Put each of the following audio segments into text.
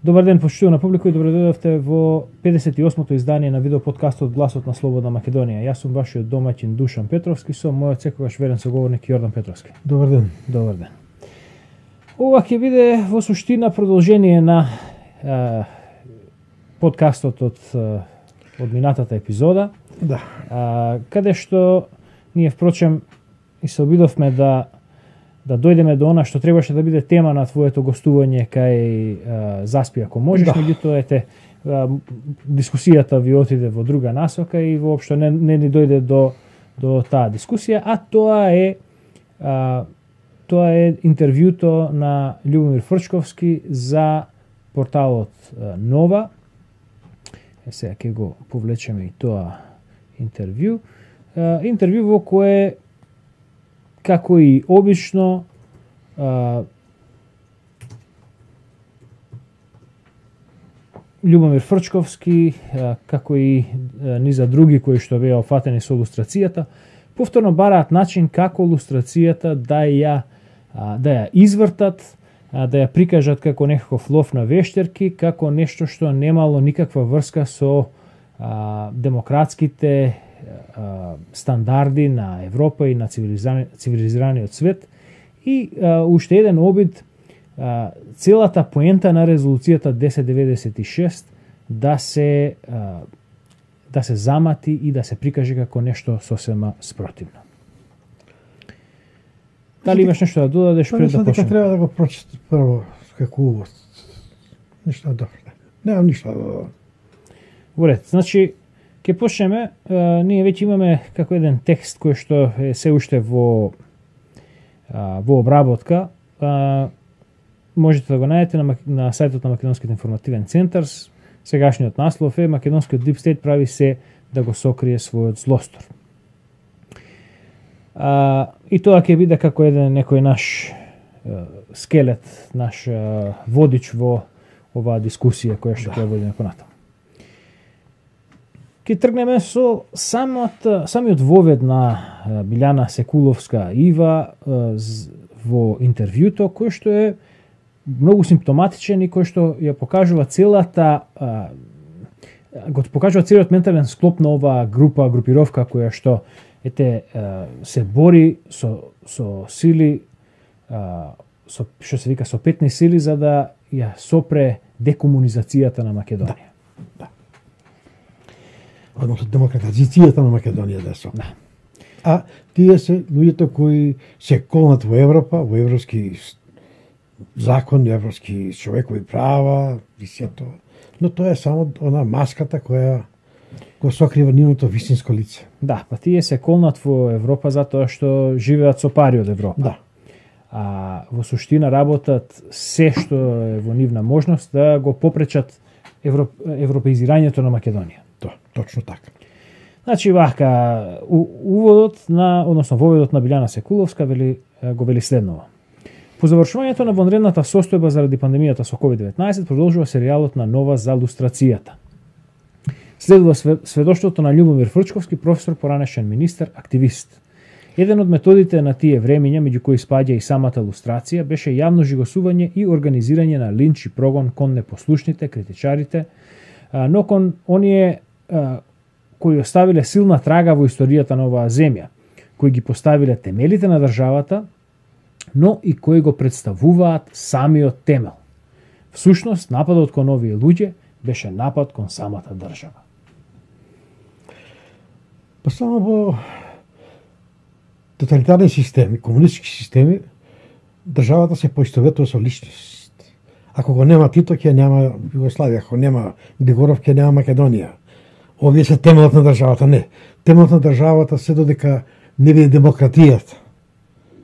Добар ден, почитувана публика, и добре дојдовте во 58-то издание на видеоподкастот Гласот на Слободна Македонија. Јас сум вашиот домаќин Душан Петровски, со мојот секогаш верен соговорник Јордан Петровски. Добар ден. Добар ден. Ова ќе биде во суштина продолжение на подкастот од минатата епизода. Да. Каде што ние впрочем и се обидовме да дојдеме до она што требаше да биде тема на твоето гостување кај Заспи ако можеш, меѓутоа дискусијата ви отиде во друга насока и воопшто не ни дојде до таа дискусија, а тоа е интервјуто на Љубомир Фрчковски за порталот Нова. Сега ќе го повлечеме и тоа интервју. Интервју во кое, како и обично, Љубомир Фрчковски, како и низа други кои што беа опфатени со лустрацијата, повторно бараат начин како лустрацијата да ја извртат, да ја прикажат како некаков лов на вештерки, како нешто што немало никаква врска со демократските стандарди на Европа и на цивилизираниот свет, и уште еден обид целата поента на резолуцијата 1096 да се замати и да се прикаже како нешто сосема спротивно. Дали имаш нешто да додадеш пред да почнеме? Треба да го прочитам прво како увод. Ништо добро. Немам ништо да додадам. Во ред, значи ќе почнеме. Ние веќе имаме како еден текст кој што е се уште во обработка. Можете да го најдете на сајтот на Македонскиот информативен центар. Сегашниот наслов е: Македонскиот Deep State прави се да го сокрие својот злостор. И тоа ќе биде како еден некој наш скелет, наш водич во оваа дискусија која што ќе водиме понатаму. Ќе тргнеме со самиот вовед на Билјана Секуловска Ива во интервјуто, кој што е многу симптоматичен и кој што ја покажува целиот ментален склоп на оваа групировка која што се бори со сили, што се вика со петни сили, за да ја сопре декомунизацијата на Македонија. Да. Односно демократизацијата на Македонија да со. Да. А тие се луѓето кои се колнат во Европа, во европски закон, европски човекови права и сето. Но тоа е само она маската која го сокрива нивното вистинско лице. Да, па тие се колнат во Европа затоа што живеат со пари од Европа. Да. А во суштина работат се што е во нивна можност да го попречат европеизирањето на Македонија. Точно така. Значи вака воведот на Билјана Секуловска го вели следново. По завршувањето на вонредната состојба заради пандемијата со COVID-19 продолжува серијалот на Нова за лустрацијата. Следува сведоштвото на Љубомир Фрчковски, професор, поранешен министер, активист. Еден од методите на тие времиња, меѓу кои спаѓа и самата лустрација, беше јавно жигосување и организирање на линч и прогон кон непослушните, критичарите, но кон оние кои оставиле силна трага во историјата на оваа земја, кои ги поставиле темелите на државата, но и кои го представуваат самиот темел. Всушност, нападот кон овие луѓе беше напад кон самата држава. Па само во тоталитарни системи, комунистички системи, државата се поистоветува со личност. Ако го нема Тито, ќе нема Југославија, ако нема Григоров, ќе нема Македонија. Овие се темелот на државата. Не. Темелот на државата се додека не биде демократијата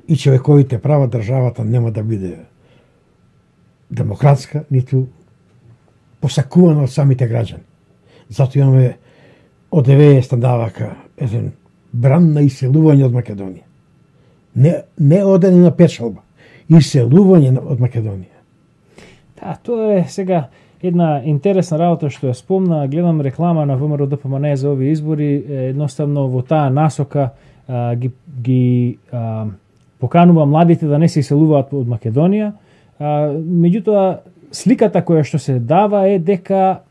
и човековите права, државата нема да биде демократска, ниту посакувана од самите граѓани. Зато имаме од ЕВЕ стандардака еден бран на иселување од Македонија. Не одење на печалба, иселување од Македонија. Да, тоа е сега една интересна работа што ја спомна. Гледам реклама на ВМРО ДПМН за овие избори, едноставно во таа насока ги поканува младите да не се иселуваат од Македонија. Меѓутоа, сликата која што се дава е дека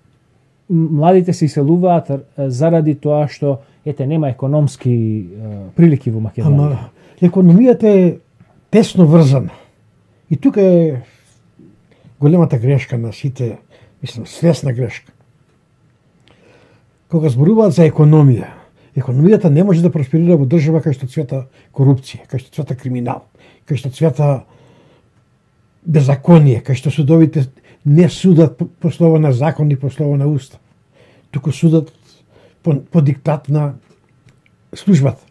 младите се иселуваат заради тоа што ете нема економски прилики во Македонија. Ама економијата е тесно врзана. И тука е големата грешка на сите, мислам, свесна грешка. Кога зборуваат за економија, економијата не може да просперира во држава кај што цвета корупција, кај што цвета криминал, кај што цвета беззаконие, кај што судовите не судат по слово на закон и по слово на устав, туку судат по диктат на службата.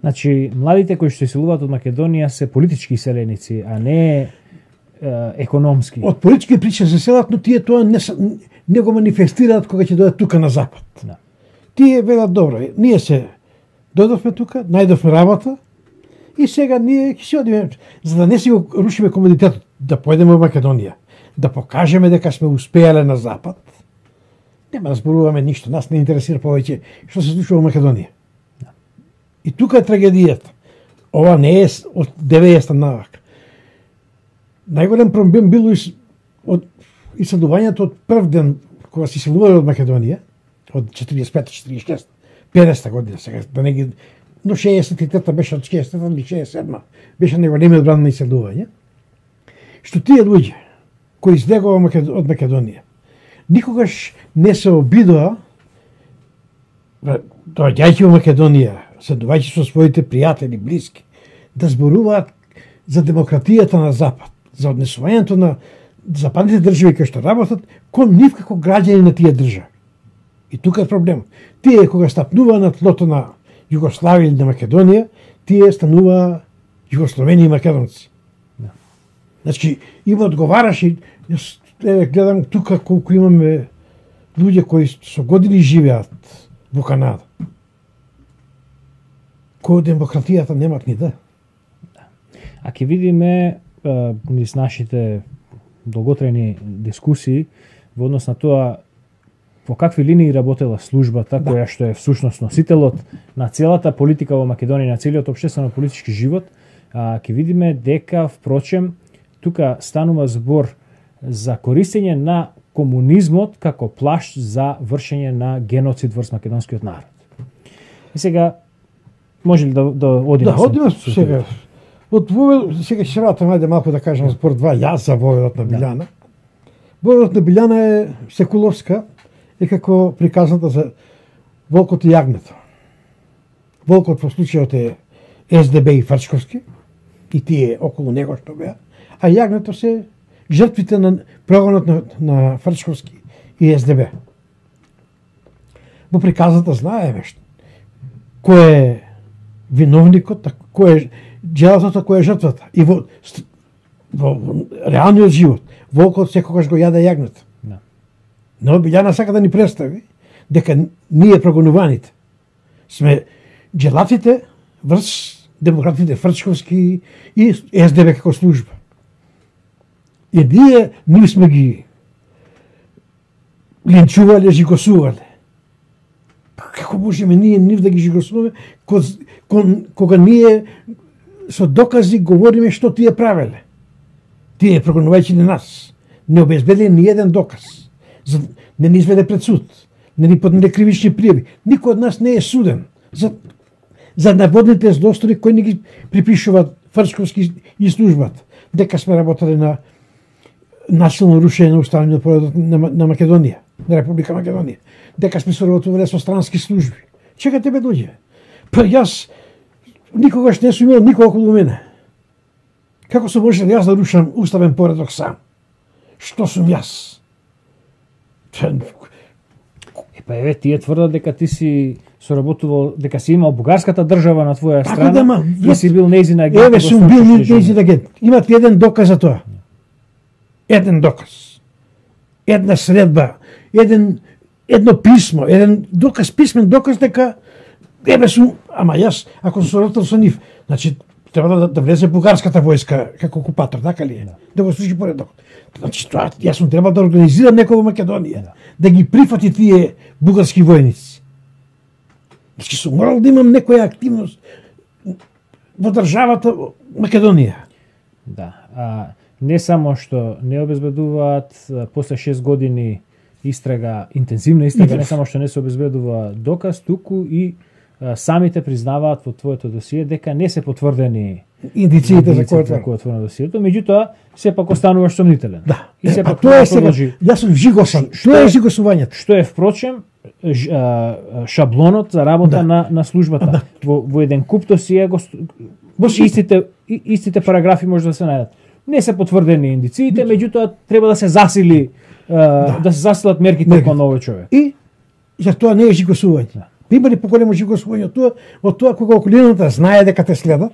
Значи, младите кои што иселуваат од Македонија се политички иселеници, а не економски. Од политички причини се селат, но тие тоа не го манифестираат кога ќе дојдат тука на запад. Да. Тие велат добро, ние се дојдовме тука, најдовме работа и сега ние ќе се одиме, за да не си го рушиме комодитетот, да појдеме во Македонија, да покажеме дека сме успеале на запад. Нема да зборуваме ништо, нас не интересира повеќе што се случува во Македонија. Да. И тука е трагедијата. Ова не е од 90-та навак. Најголем проблем било од иселувањето од прв ден кога се иселувале од Македонија, од 45-та, 46-та, 50-та година сега, да не ги... Но 63-та беше од 60-та или 67-та, беше најголемиот бран на иселување, што тие луѓе кои избегува од Македонија, никогаш не се обидоа, доаѓајќи во Македонија, седувајќи со своите пријатели, блиски, да зборуваат за демократијата на Запад, за однесувањето на западните држави кои што работат кон нив како граѓани на тие држави. И тука е проблем. Тие кога стапнува на тлото на Југославија или на Македонија, тие станува југословени и македонци. Да. Значи, има одговараше, јас гледам тука колку имаме луѓе кои со години живеат во Канада. Кој демократијата немат ни да. А ќе видиме низ нашите долготрени дискусии во однос на тоа во какви линии работела службата, која што е всушност носителот на целата политика во Македонија, на целиот општествено-политички живот, ќе видиме дека, впрочем, тука станува збор за користење на комунизмот како плашт за вршење на геноцид врз македонскиот народ. И сега, може ли да одиме? Да, одиме сега. Сега ќе се вратам, ајде малку да кажам збор 2, јас за војодот на Билјана. Војодот на Билјана е Секуловска, е како приказната за волкот и јагнето. Волкот во случајот е СДБ и Фрчковски, и тие околу него што беа, а јагнето се жртвите на прогонот на Фрчковски и СДБ. Во приказната знаеме кој е виновникот, кој е джелатото, кој е жртвата. И во реалниот живот, волкот секогаш го јаде јагнето. Но Билјана сака да ни представи дека ние прогонуваните сме джелатите врз демократите Фрчковски и СДБ како служба. И ние сме ги линчувале, жигосувале. Како можеме ние нив да ги жигосуваме кога ние со докази говориме што тие правеле? Тие прогонувајќи на нас не обезбедиле ни еден доказ. Не ни изведе пред суд, не ни поднеде кривични пријави. Никој од нас не е суден за наводните злостори кои ни ги припишуваат Фрчковски и службата. Дека сме работеле на насилно рушење на уставниот поредок на Македонија, на Република Македонија. Дека сме соработувале со странски служби. Чекате бе луѓе. Па јас никогаш не сум имал никој околу мене. Како се може јас да рушам уставен поредок сам? Што сум јас? Па еве тие тврдат дека ти си соработувал, дека си имал бугарската држава на твоја страна, и си бил нејзин агент. Еве сум бил нејзин агент. Имате еден доказ за тоа. Еден доказ. Една средба, едно писмо, еден доказ, писмен доказ дека еве сум, ама јас ако сум соработил со нив, значи треба да влезе бугарската војска како окупатор, така ли е? Да го служи поредок. Значи тоа јас сум требал да организирам некој во Македонија, да ги прифати тие бугарски војници. Значи сум морал да имам некоја активност во државата Македонија. Да. не само што не обезбедуваат после 6 години истрага, интензивна истрага, не само што не се обезбедува доказ, туку и самите признаваат во твоето досие дека не се потврдени индициите за кој е отворено досието, меѓутоа сепак остануваш сомнителен. Да. И сепак тоа е сега. Јас сум жигосан. Тоа е жигосувањето. Што е впрочем шаблонот за работа на службата. Во еден куп досие истите параграфи може да се најдат. Не се потврдени индициите, меѓутоа треба да се засили да се засилат мерките кон овој човек. И за тоа не е жигосување. Има ли поголемо жигосување од тоа кога околината знае дека те следат?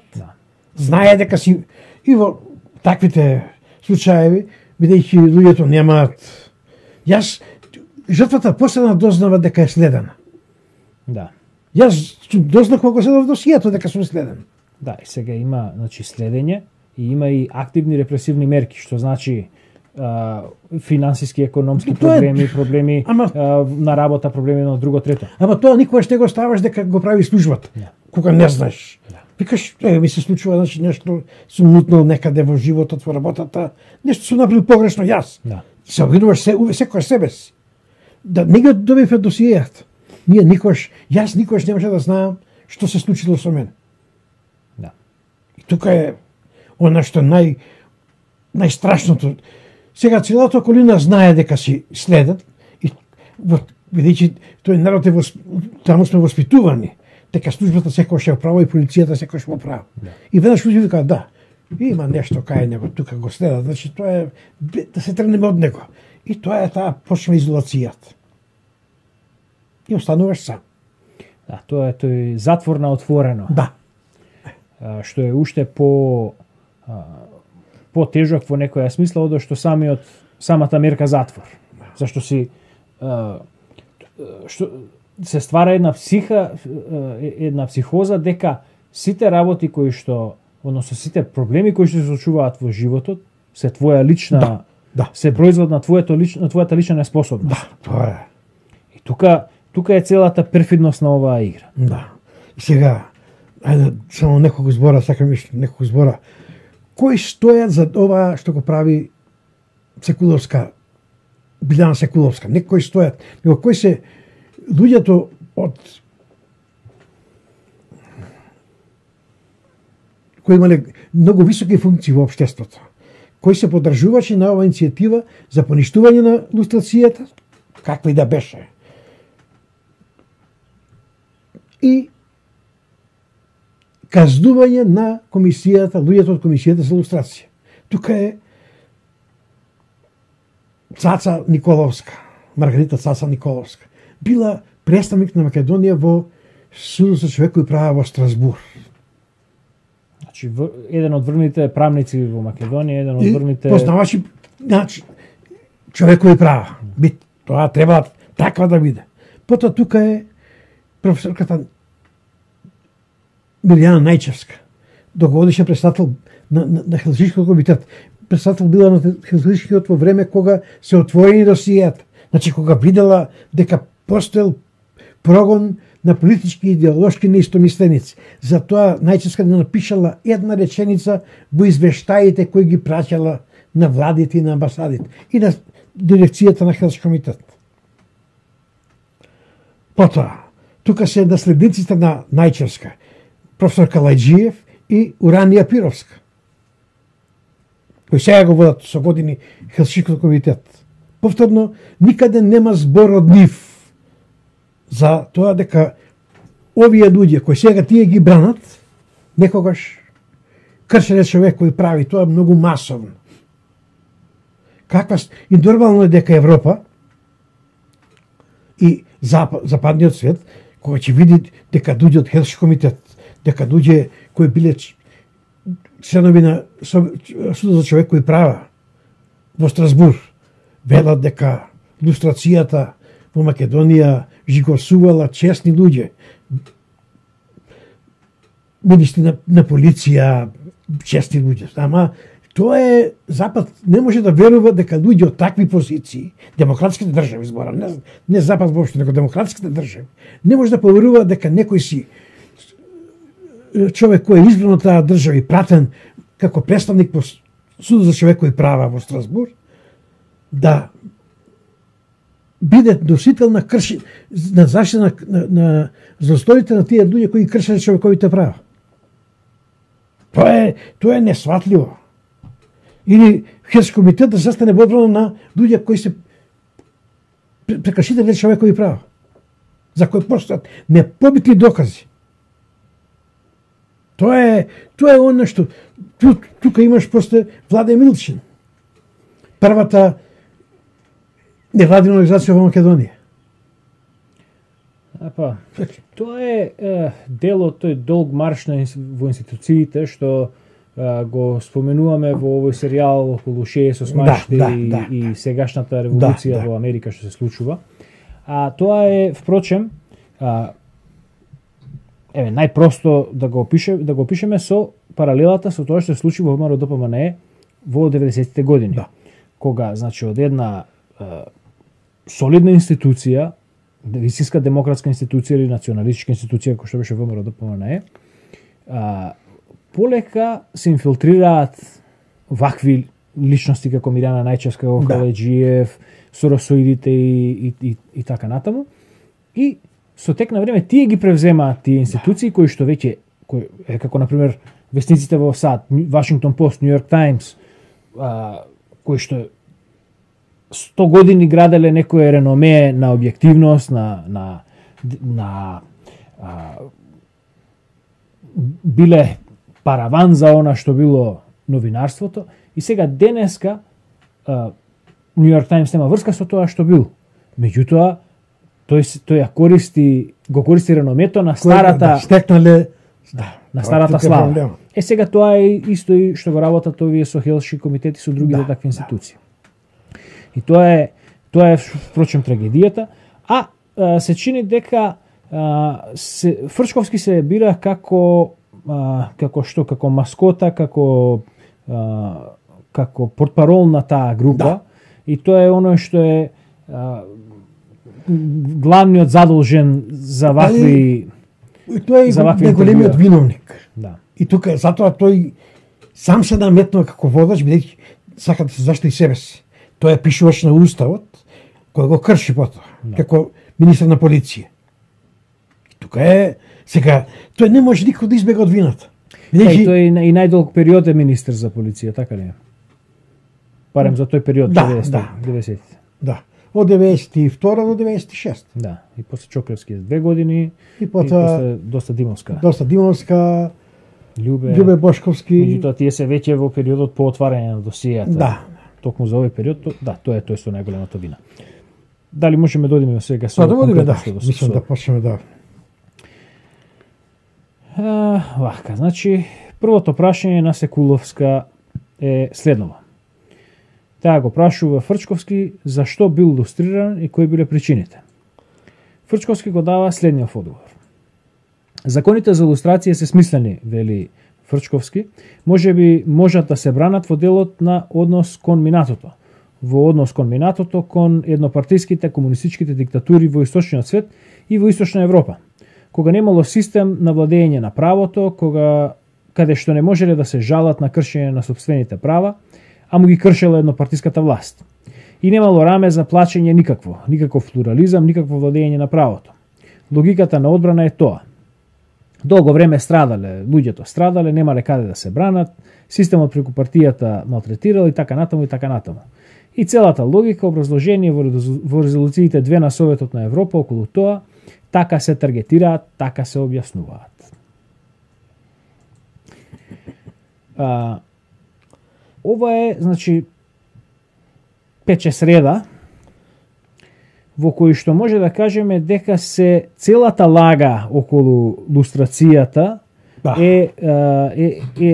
Знае дека си и во таквите случаеви, бидејќи луѓето немаат. Јас жртвата последна дознава дека е следена. Да. Јас дознав кога следав досието дека сум следен. Да, и сега има, значи, следење и има и активни репресивни мерки, што значи финансиски, економски проблеми на работа, проблеми на друго трето. Ама тоа никогаш не го ставаш дека го прави службата. Кога не знаеш. Викаш, ми се случува, значи нешто сум мутнал некаде во животот, во работата, нешто сум направил погрешно јас. Се обвинуваш секој себе си. Да не ги добивме досиејата. Јас никогаш не може да знаам што се случило со мене. И тука е она што најстрашното. Сега целата околина знае дека си следен и бидејќи тој народ таму сме воспитувани дека службата секогаш е право и полицијата секогаш во право. И веднаш луѓе викаат да, има нешто кај него, тука го следат, значи тоа е да се тргнеме од него. И тоа е таа почна изолацијата. И остануваш сам. Да, тоа е тој затвор на отворено. Да. Што е уште по-тежок во некоја смисла од што самата мерка затвор. Зашто си што се ствара една психоза дека сите работи кои што, односно сите проблеми кои што се случуваат во животот се твоја лична, се производ на твојата лична неспособност. Да, тоа е. И тука е целата перфидност на оваа игра. Да. И сега, ајде само неколку збора, сакам неколку збора. Кои стојат за ова што го прави Секуловска, Билјана Секуловска? Не кои стојат, него кои се луѓето кои имале многу високи функции во општеството, кои се поддржувачи на оваа иницијатива за поништување на лустрацијата, каква и да беше. И казнување на комисијата, луѓето од комисијата за лустрација. Тука е Цаца Николовска, Маргарита Цаца Николовска. Била представник на Македонија во Судот за човекови права во Страсбур. Значи, еден од врвните правници во Македонија, еден од врвните... Познавачи, значи, човекови права. Тоа треба таква да биде. Потоа тука е професорката Милијана Најчевска, долгогодишен председател на Хелзинскиот комитет. Председател била на Хелзинскиот во време кога се отворени досијата. Значи, кога видела дека постоел прогон на политички и идеолошки неистомисленици. Затоа Најчевска не напишала една реченица во извештаите кои ги праќала на владите и на амбасадите и на дирекцијата на Хелзински комитет. Потоа, тука се наследниците на Најчевска, професор Калајджиев и Уранија Пировска, кои сега го водат со години Хелзинскиот комитет. Повторно, никаде нема збор од нив за тоа дека овие луѓе кои сега тие ги бранат, некогаш кршеле човекови прави, тоа е многу масовно. И нормално е дека Европа и западниот свет, кога ќе види дека луѓе од Хелзински комитет, дека луѓе кои биле членови на Судот за човекови права во Страсбур велат дека лустрацијата во Македонија жигосувала честни луѓе, министри на полиција, честни луѓе. Ама тоа е Запад не може да верува дека луѓе од такви позиции, демократските држави зборам, не Запад воопшто, него демократските држави, не може да поверува дека некој си човек кој е избран од таа држава и пратен како представник по Судот за човекови права во Страсбур да биде носител на на заштита на застоите на тие луѓе кои кршат човековите права. Тоа е несватливо. Или Херски комитет да застане во одбрана на луѓе кои се прекршители на човекови права, за кои постојат непобитни докази. Тоа е оно што тука имаш после Владе Милчин, првата невладина организација во Македонија. Тоа е дел од тој долг марш во институциите што го споменуваме во овој серијал околу 68 и сегашната револуција во Америка што се случува. Тоа е, впрочем, најпросто да го опишеме со паралелата со тоа што се случи во ВМРО-ДПМНЕ во 90-тите години. Кога, значи, од една солидна институција, вистинска демократска институција или националистичка институција кој што беше ВМРО-ДПМНЕ, полека се инфилтрираат вакви личности како Мирјана Најчевска, како Каледжиев, Соросоидите и така натаму. И со тек на време тие ги превземаат тие институции кои што веќе како на пример вестниците во САД, Вашингтон Пост, Нью Йорк Таймс, кои што 100 години граделе некое реноме на објективност, биле параван за она што било новинарството, и сега денеска Нью Йорк Таймс нема врска со тоа што бил. Меѓутоа тој ја го користи реномето на старата на старата слава. Сега тоа е исто и што го работат овие со Хелши комитети со другите такви институции. И тоа е впрочем трагедијата, се чини дека Фрчковски се бира како маскота, како портпарол на таа група, и тоа е оно што е главниот задолжен за вакви. Тоа е најголемиот виновник. И тука затоа тој сам се наметнува како водач, бидејќи сака да се заштити себе си. Тоа е пишувач на уставот, кој го крши потоа, како министар на полиција. Тука е сега тој не може никој да избега од вината. Тој и најдолг период е министер за полиција, така ли е? Барем за тој период 90-тите. Да. Од 92 до 96. Да, и после Чоклевски 2 години, и после доста Димовска. Љубе Бошковски. Меѓутоа тие се веќе во периодот по отварање на досијата. Токму за овој период, тоа е тој со најголемата вина. Дали можеме да одиме сега со мислам да почнеме вака, значи првото прашање на Секуловска е следново. Таа го прашува Фрчковски зашто бил лустриран и кои биле причините. Фрчковски го дава следниот одговор. Законите за лустрација се смислени, вели Фрчковски, можат да се бранат во делот на однос кон минатото. Во однос кон минатото кон еднопартиските комунистичките диктатури во источниот свет и во источна Европа. Кога немало систем на владење на правото, каде што не можеле да се жалат на кршење на сопствените права, а му ги кршела еднопартиската власт. И немало раме за плачење никаков плурализам, никакво владење на правото. Логиката на одбрана е тоа. Долго време луѓето страдале, немале каде да се бранат, системот преку партијата малтретирал и така натаму. И целата логика, образложение во резолуциите 2 на Советот на Европа околу тоа, така се таргетираат, така се објаснуваат. Ова е, значи, пече среда, во кој што може да кажеме дека се целата лага околу лустрацијата е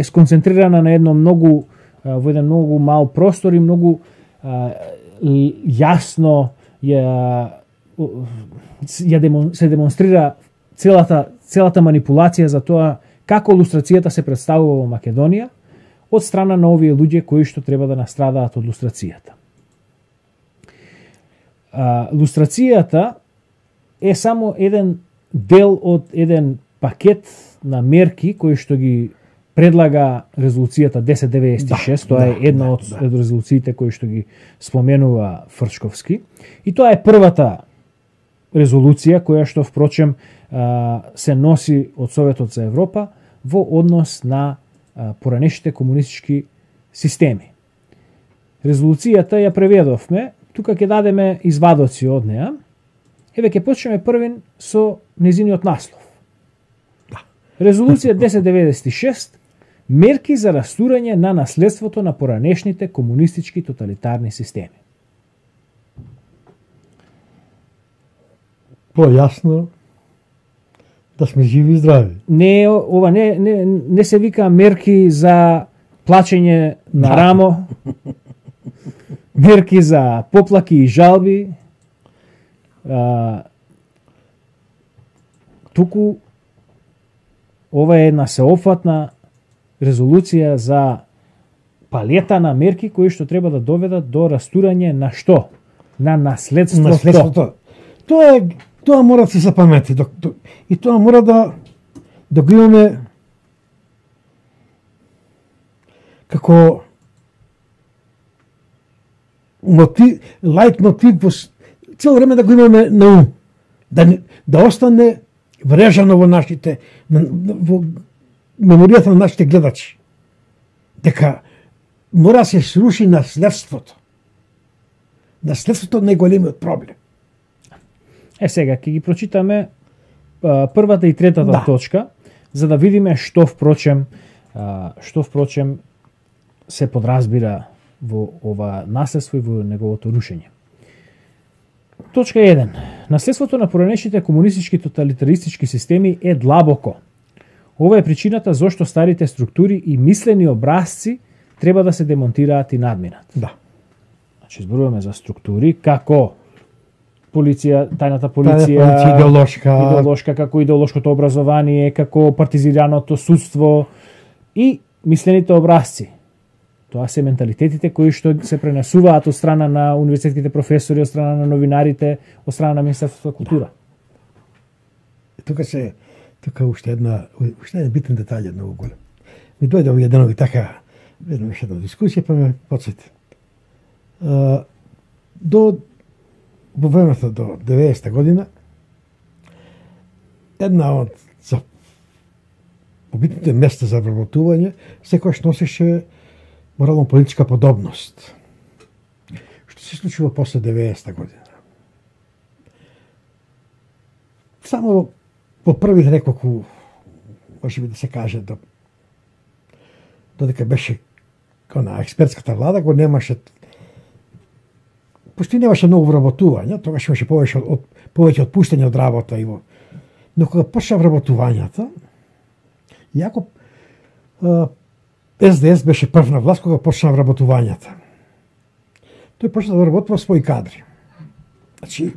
сконцентрирана на во еден многу мал простор и многу јасно се демонстрира целата манипулација за тоа како лустрацијата се представува во Македонија од страна на овие луѓе кои што треба да настрадаат од лустрацијата. Лустрацијата е само еден дел од еден пакет на мерки кои што ги предлага резолуцијата 1096, тоа е една од резолуциите кои што ги споменува Фрчковски. И тоа е првата резолуција која што впрочем се носи од Советот за Европа во однос на поранешните комунистички системи. Резолуцијата ја преведовме, тука ќе дадеме извадоци од неа. Еве ќе почнеме првин со незиниот наслов. Резолуција 1096 мерки за растурање на наследството на поранешните комунистички тоталитарни системи. Појасно да сме живи и здрави. Не се вика мерки за плачење на рамо, мерки за поплаки и жалби, туку ова е една сеопфатна резолуција за палета на мерки кои што треба да доведат до растурање на што? На наследството. Тоа мора да се запамети. И тоа мора да го имаме како лајт мотив, цело време да го имаме на ум. Да остане врежано во нашите, во меморијата на нашите гледачи. Дека мора да се сруши наследството. Наследството е најголемиот проблем. Сега ќе ги прочитаме првата и третата точка, за да видиме што впрочем се подразбира во ова наследство и во неговото рушење. Точка 1. Наследството на поранешните комунистички тоталитаристички системи е длабоко. Ова е причината зошто старите структури и мислени образци треба да се демонтираат и надминат. Значи, зборуваме за структури како тајната полиција, идеолошка, како идеолошкото образование, како партизираното судство и мислените образци. Тоа се менталитетите кои што се пренесуваат од страна на универзитетските професори, од страна на новинарите, од страна на Министерството за култура. Тука уште една битен детаљ, многу голем. Ми дојде овие денови така, веднаш една дискусија, па ме подсети. Во времето до 90-та година, една од побитните места за вработување секојаш носеше морално-политичка подобност. Што се случува после 90-та година? Само по првите неколку, може би да се каже, додека беше експертската влада, го немаше, пошто немаше многу вработување, тогаш имаше повеќе отпуштање од работа. Но кога почна вработувањата, иако СДС беше прв на власт кога почна вработувањата, тој почна да вработува своји кадри. Значи,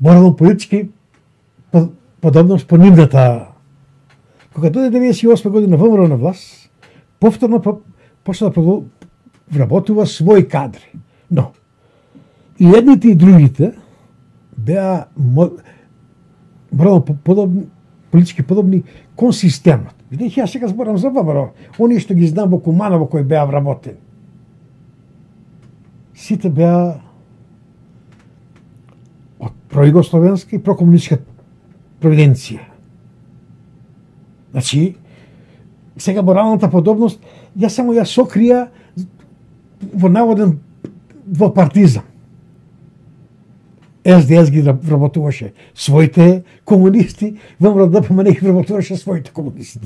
морално-политички подобност по нивната. Кога дојде 98 година ВМРО на власт, повторно почна да вработува своји кадри. Но, и едните и другите беа политички подобни кон системот. Видите, јас сега зборам за ВМРО, оние што ги знам во Куманово кои беа вработени. Сите беа од пројугословенска и прокомунистичка провиденција. Значи, сега моралната подобност, јас само ја сокрија во наводен во партизам. СДС ги вработуваше своите комунисти, ВМРО ДПМН ги вработуваше своите комунисти.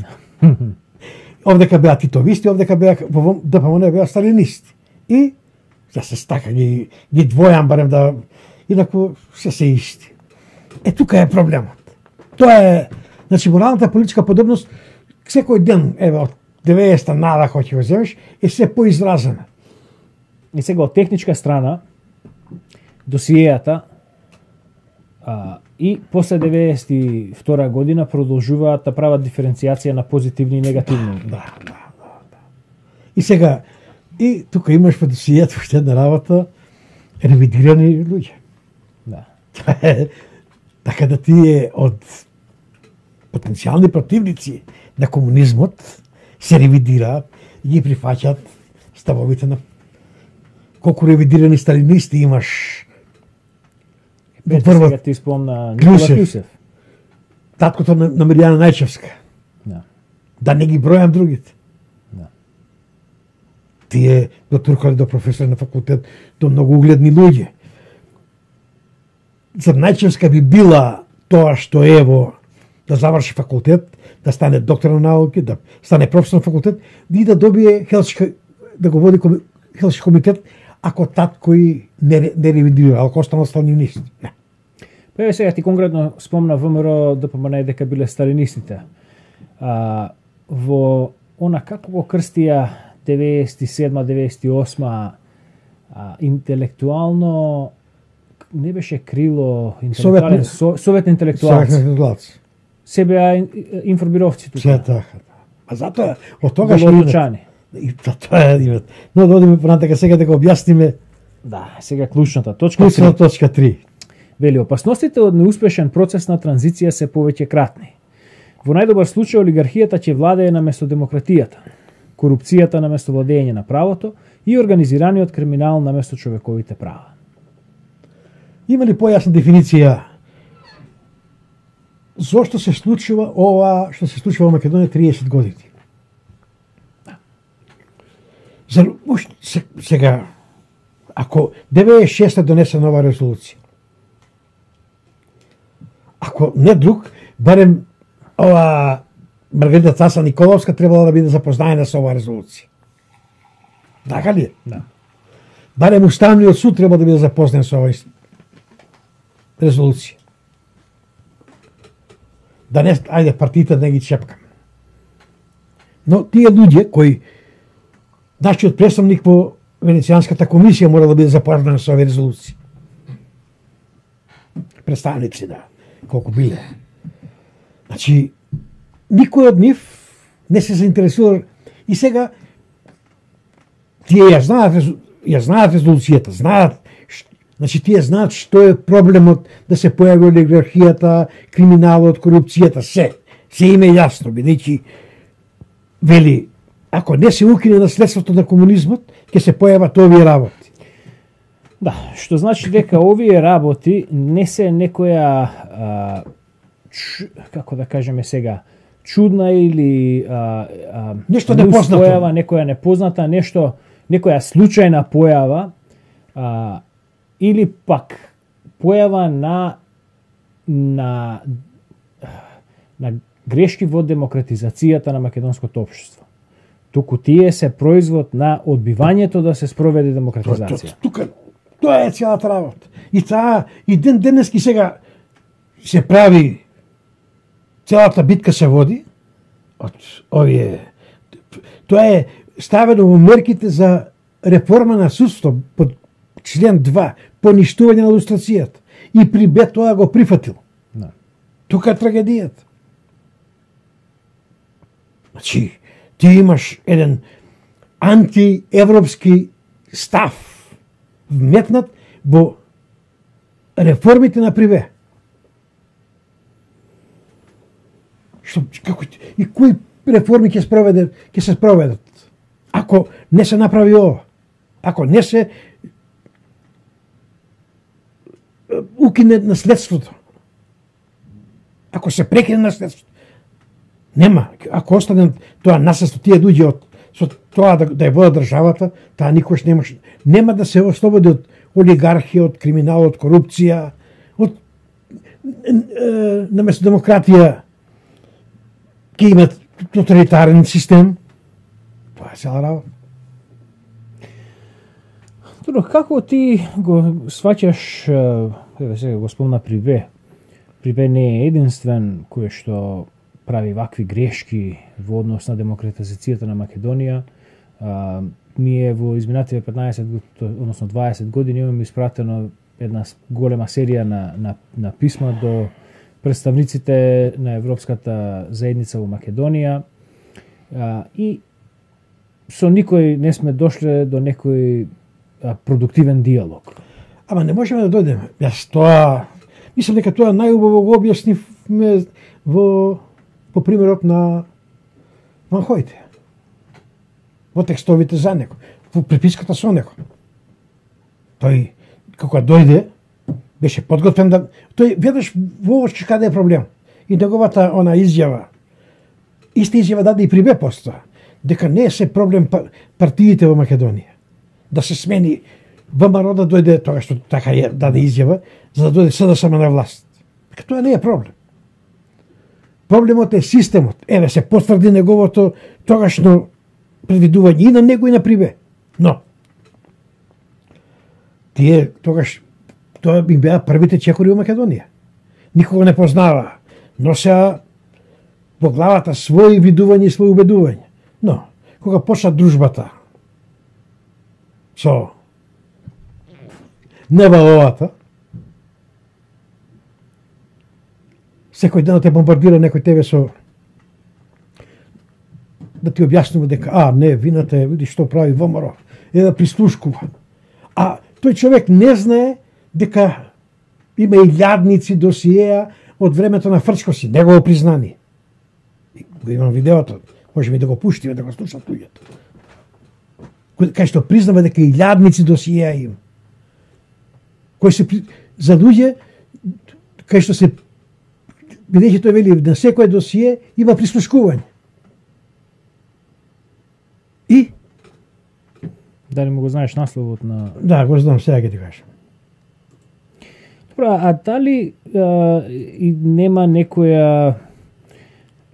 Овдека беа титовисти, овдека беа во ДПМН беа сталинисти. И ја се стака ги двојам барем да инаку се исти. Тука е проблемот. Тоа е, значи моралната политичка подобност секој ден, од 90-та надахо ќе го земеш, е се поизразена. И сега од техничка страна досиејата и после 92 година продолжуваат да прават диференцијација на позитивни и негативни. Да. И сега, и тука имаш по досиејата уште една работа, ревидирани луѓе. Да. Така да тие од потенцијални противници на комунизмот се ревидираат и ги прифаќаат ставовите на колку ревидирани сталинисти имаш. Сега ти спомна Никола Кјусев. Таткото на Миријана Најчевска. Да не ги бројам другите. Тие до туркали до професори на факултет, до многу угледни луѓе. За Најчевска би била тоа што ево да заврши факултет, да стане доктор на науки, да стане професор на факултет, и да добие Хелсиншки, да го води Хелсиншки комитет, ако татко и не ревидира, ако останал сталинисти. Не. Па еве сега ти конкретно спомна ВМРО ДПМН дека биле сталинистите. Во она како го крстија 97-98 интелектуално не беше крило интелектуален совет интелектуалци. Се беа информировци тука. Се така. А затоа од тогаш и тоа е. Но да одиме понатака сега да го објасниме. Да, сега клучната точка 3. Вели, опасностите од неуспешен процес на транзиција се повеќе кратни. Во најдобар случај олигархијата ќе владее наместо демократијата, корупцијата наместо владење на правото и организираниот криминал наместо човековите права. Има ли појасна дефиниција зошто се случува ова што се случува во Македонија 30 години? Сега, ако 96-та донесе нова резолуција, ако не друг, барем ова Маргарита Цаса Николовска требала да биде запознаена со оваа резолуција. Така ли е? Да. Барем Уставниот суд треба да биде запознат со оваа резолуција. Да не, ајде, партиите да не ги чепкаме. Но тие луѓе кои нашиот представник во Венецијанската комисија мора да биде запознат со оваа резолуција. Представници, да, колку биле. Значи, никој од нив не се заинтересува и сега тие ја знаат резолуцијата, знаат, значи тие знаат што е проблемот да се појави олигархијата, криминалот, корупцијата, се им е јасно, бидејќи вели, ако не се укине наследството на комунизмот, ќе се појават овие работи. Да, што значи дека овие работи не се некоја како да кажеме сега, чудна или нешто непознато, појава, некоја непозната, нешто, некоја случајна појава или пак појава на грешки во демократизацијата на македонското општество. Туку тие се производ на одбивањето да се спроведе демократизација. Тоа е целата работа. И таа и денески сега се прави, целата битка се води од овие. Тоа е ставено во мерките за реформа на судство под член 2, поништување на лустрацијата. И Прибет тоа го прифатил. Да. Тука е трагедијата. Значи, ти имаш еден антиевропски став вметнат во реформите на Прибе. Како и кои реформи ќе се спроведат? Ако не се направи ова, ако не се укине наследството, ако се прекине наследството, нема. Ако остане тоа наследство, тие луѓе со тоа да ја водат државата, таа никош нема да се ослободи од олигархија, од криминал, од корупција, од наместо демократија ќе имат тоталитарен систем. Тоа е цела работа. Добро, како ти го сваќаш, еве сега го спомна Прибе. Прибе не е единствен кој што прави вакви грешки во однос на демократизацијата на Македонија. Ние во изминативе 15, односно 20 години имаме испратено една голема серија на писма до представниците на Европската заедница во Македонија и со никој не сме дошле до некој продуктивен диалог. Ама не можеме да дојдеме. Јас тоа мислам дека тоа најубаво го објаснивме по примерот на Ван Хојте. во текстовите за него, во приписката со него. Тој, кога дојде, беше подготвен да... Тој веднаш воочи каде е проблем. И неговата она изјава, иста изјава даде и при бе постоја, дека не е се проблем партиите во Македонија. Да се смени ВМРО да дојде, тога што така е, даде изјава, за да дојде СДСМ на власт. Дека тоа не е проблем. Проблемот е системот. Еве се потврди неговото тогашно предвидување и на него и на Прибе. Но, тие тогаш, тоа би беа првите чекори во Македонија. Никого не познава. Носеа во главата своји видувања и своји убедувања. Но, кога почна дружбата со НВО-ата, секој ден те бомбардира некој тебе со да ти објаснува дека не, вината е, види што прави ВМРО, е да прислушкува. А тој човек не знае дека има илјадници досиеа од времето на Фрчковски, негово признание. Го имам видеото, можеме да го пуштиме, да го слушат луѓето. Кај што признава дека илјадници досиеа има. Кој се за луѓе кај што се бидејќи тој вели на секој досие има прислушкување. И дали му го знаеш насловот на... Да, го знам, сега ќе ти кажам. Добро, а дали и нема некоја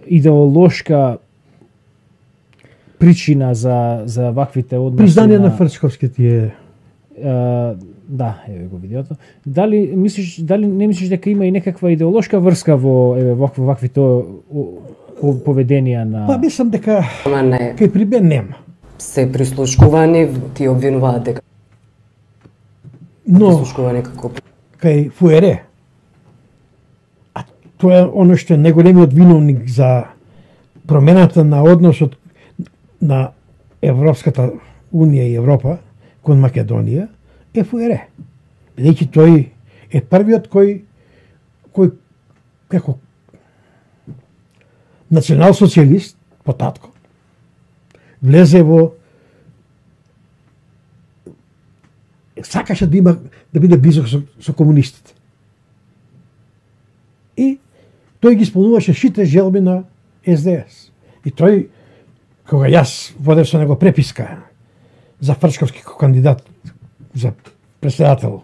идеолошка причина за ваквите односи? Признание на Фрчковски ти е... Да, еве го видеото. Дали не мислиш дека има и некаква идеолошка врска во ваквите поведенија на... Па мислам дека кај Прибе нема. Се прислушкувани, ти обвинуваат дека но прислушкувани како кај Фуере, а тоа е оно што е најголемиот виновник за промената на односот на Европската Унија и Европа кон Македонија, е Фуере. Бидејќи тој е првиот кој како национал-социјалист по татко влезе во сакаше да биде близок со комунистите. И тој ги исполнуваше сите желби на СДС. И тој, кога јас водев со него преписка за Фрчковски кандидат за председател,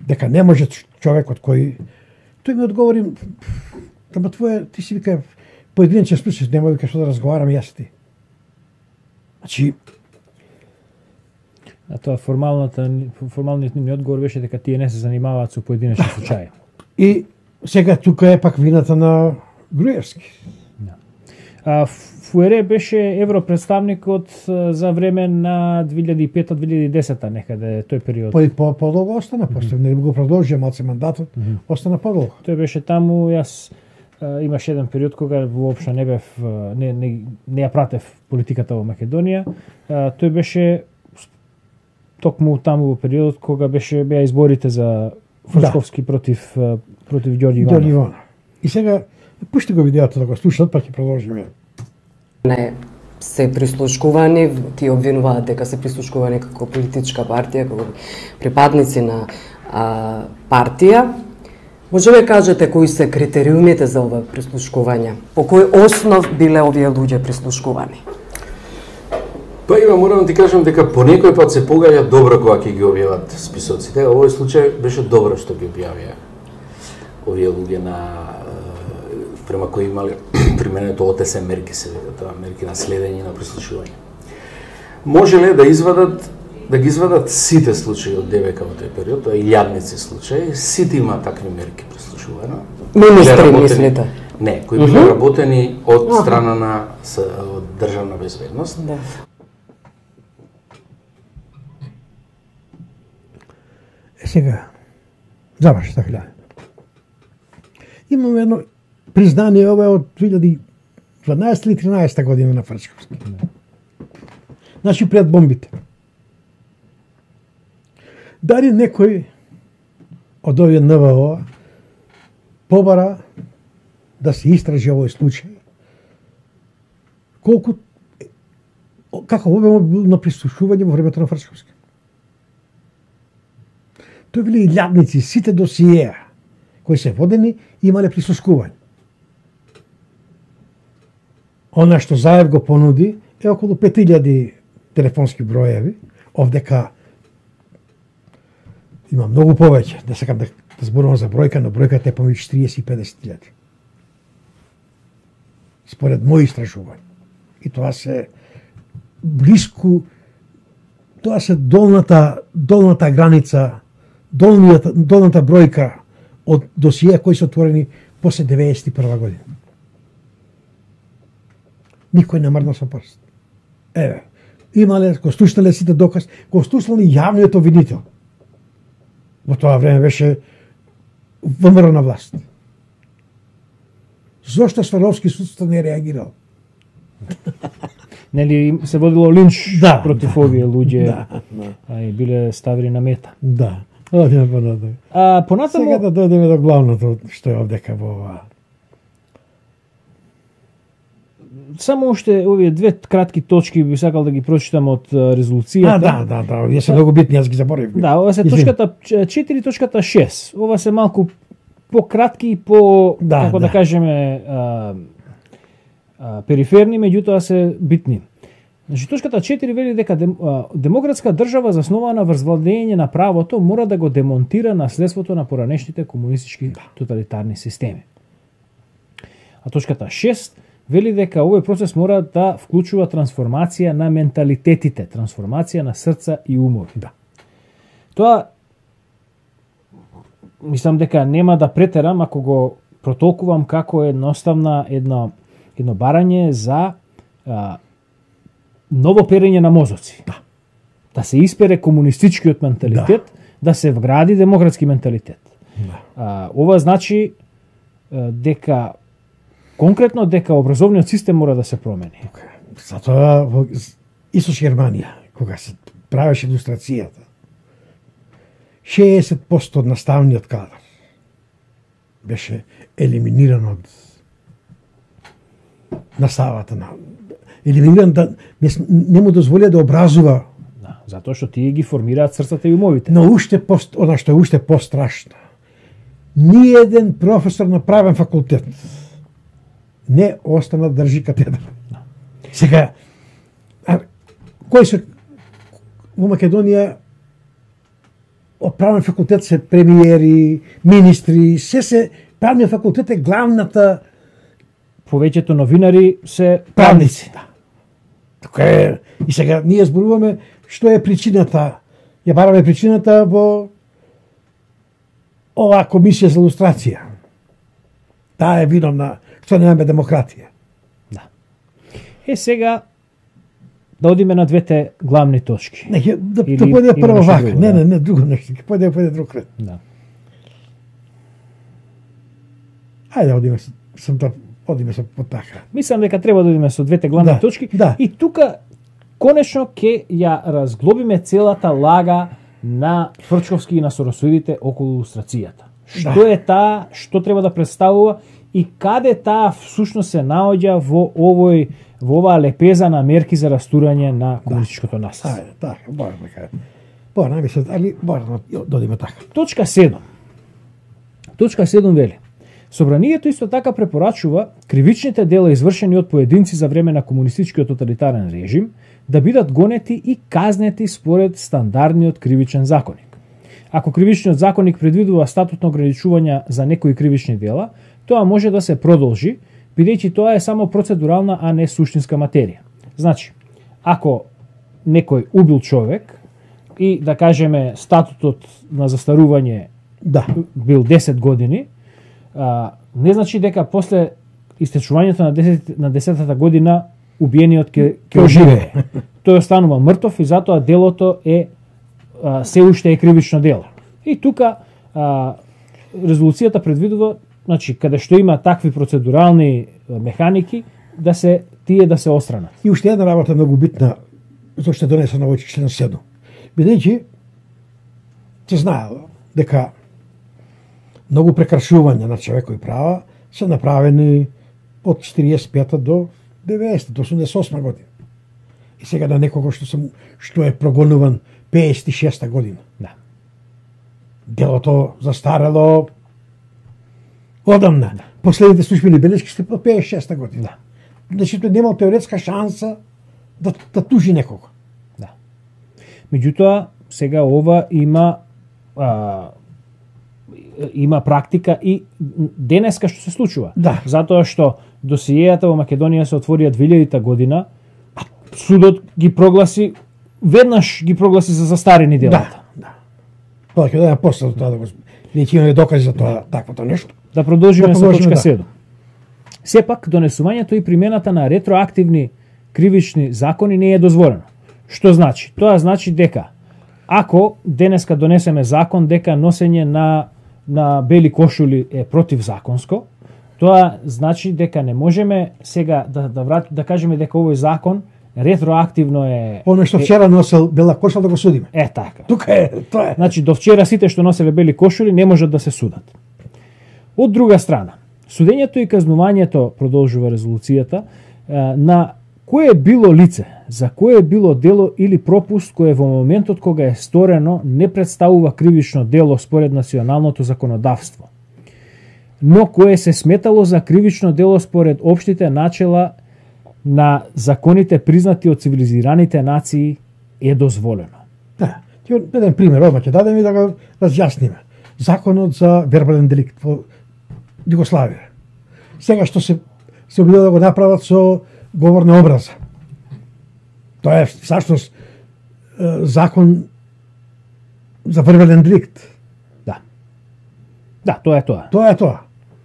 дека не може човекот тој ми одговори, тама ти си вика поединечен случај, нема вика што да разговараме јас и ти. Значи, а тоа формалниот ми одговор беше дека тие не се занимаваат со поединечни случаи. И сега тука е пак вината на Груевски. Да. Фуере беше европредставникот за време на 2005-2010 некаде тој период. Подолго остана, после не го продолжија малце мандатот, остана подолго. Тој беше таму, јас имаше еден период кога воопшто не бев не ја пратев политиката во Македонија. Тој беше токму таму во периодот кога беа изборите за Фрчковски против Ѓорѓи Иванов. И сега пушти го видеото да го слушат, па ќе продолжиме. Не се прислушкувани, ти обвинуваат дека се прислушкувани како политичка партија, како припадници на партија. Може да кажете кои се критериумите за ова прислушкување? По кој основ биле овие луѓе прислушкувани? Па Ива, морам да ти кажам дека по некој пат се погаѓа добро кога ќе ги објават списоците. Овој случај беше добро што ги објавија овие луѓе према кои имале применето ОТС мерки, се вика тоа, мерки на следење на прислушување. Можеле да ги извадат сите случаи од ДВК во тој период, тоа илјадници случаи, сите има такви мерки прислушување. Министри, мислите? Не, кои биле работени од страна на државна безбедност. Да. Сега, заврши така. Имаме едно признание, ова е од 2012 или 13 година на Фрчковски. Значи пред бомбите. Дали некој од овие НВО побара да се истражи овој случај, колку како обем бил на прислушување во времето на Фрчковски. Тој били илјадници, сите досиеа кои се водени имале прислушкување. Она што Заев го понуди е околу 5000 телефонски броеви, овдека има многу повеќе, да сакам да зборувам за бројка, но бројката е помеѓу 40 и 50.000. Според мои истражувања. И тоа се блиску, тоа се долната граница, долната бројка од досија кои се отворени после 91 година. Никој не мрдна со прст. Еве, имале, го слушнале сите доказ, го слушнале јавниот обвинител. Во тоа време беше ВМРО на власт. Зошто Сваровски судство не реагирал? Нели се водило линч против овие луѓе, и биле ставени на мета. Да. Одиме понатаму. Понатаму сега да дојдеме до главното што е овдека во ова. Само уште овие две кратки точки би сакал да ги прочитам од резолуцијата. Да, овие се многу битни, јас ги заборив. Да, ова се точката 4 точката 6. Ова се малку пократки и по како да кажеме периферни, меѓутоа се битни. Значи точката 4 вели дека демократска држава заснована врз владење на правото мора да го демонтира наследството на поранешните комунистички тоталитарни системи. А точката 6 вели дека овој процес мора да вклучува трансформација на менталитетите, трансформација на срца и умови. Да. Тоа мислам дека нема да претерам ако го протолкувам како едноставна едно барање за ново перење на мозоци. Да се испере комунистичкиот менталитет, да се вгради демократски менталитет. Ова значи дека конкретно дека образовниот систем мора да се промени. Затоа во Источна Германија, кога се правеше илустрацијата, 60% од наставниот кадар беше елиминиран од наставата на елиминиран да не му дозволија да образува. Да, затоа што тие ги формираат срцата и умовите. Но она што е уште пострашно. Ниеден професор на правен факултет не остана да држи катедра. Сега, кои се во Македонија од правен факултет се премиери, министри, се правниот факултет е главната. Повеќето новинари се правници. Така е. И сега ние зборуваме што е причината. Ја бараме причината во оваа комисија за илустрација. Таа е виновна што немаме демократија. Да. Сега да одиме на двете главни точки. Не, да појде прво вака. Не, друго нешто. Појде друг ред. Да. Ајде одиме со потака. Мислам дека треба да одиме со двете главни точки. Да. И тука конечно ќе ја разглобиме целата лага на Фрчковски и на соросоидите околу илустрацијата. Што е таа, што треба да представува и каде таа всушност се наоѓа во оваа лепеза на мерки за растурање на комунистичкото наследство. Ајде, така, бараме се, али бараме додиме така. Точка 7. Точка 7 вели: Собранието исто така препорачува кривичните дела извршени од поединци за време на комунистичкиот тоталитарен режим да бидат гонети и казнети според стандардниот кривичен законник. Ако кривичниот законник предвидува статутно ограничување за некои кривични дела, тоа може да се продолжи, бидејќи тоа е само процедурална, а не суштинска материја. Значи, ако некој убил човек и да кажеме статутот на застарување бил 10 години, не значи дека после истечувањето на 10-та година убиениот ќе оживее. Тој останува мртов и затоа делото е се уште е кривично дело. И тука резолуцијата предвидува, значи каде што има такви процедурални механики, да се остранат. И уште една работа многу битна, зашто е донесена во член 7. Бидејќи се знаело дека многу прекршувања на човекови права се направени од 45 до 90, до 88 година. И сега на некого што е прогонуван 56-та година. Да. Делото застарело одамна. Да. Последните службени белешки се по 56-та година. Да. Значи тој немал теоретска шанса да тужи некого. Да. Меѓутоа, сега ова има практика и денеска што се случува. Да. Затоа што досиејата во Македонија се отворија 2000 година, а судот ги прогласи за застарени делата. Да. Тоа ќе да после тоа да го неќе имаме докази за тоа таквото нешто. Да продолжиме со точка да. 7. Сепак, донесувањето и примената на ретроактивни кривични закони не е дозволено. Што значи? Тоа значи дека ако денеска донесеме закон дека носење на бели кошули е противзаконско, тоа значи дека не можеме сега да кажеме дека овој закон ретроактивно е... Оно што вчера носел бела кошула да го судиме. Така. Тука е, тоа е. Значи, до вчера сите што носеле бели кошули не можат да се судат. Од друга страна, судењето и казнувањето, продолжува резолуцијата, на кое било лице, за кое било дело или пропуст кое во моментот кога е сторено не представува кривично дело според националното законодавство, но кое се сметало за кривично дело според општите начела на законите признати од цивилизираните нации е дозволено. Да. Ќе еден пример одма ќе дадеме и да го разјасниме. Законот за вербален деликт во Југославија. Сега што се обидува да го направат со говорна образа. Тоа е всушност закон за вербален деликт. Да. Да, тоа е тоа. Тоа е тоа.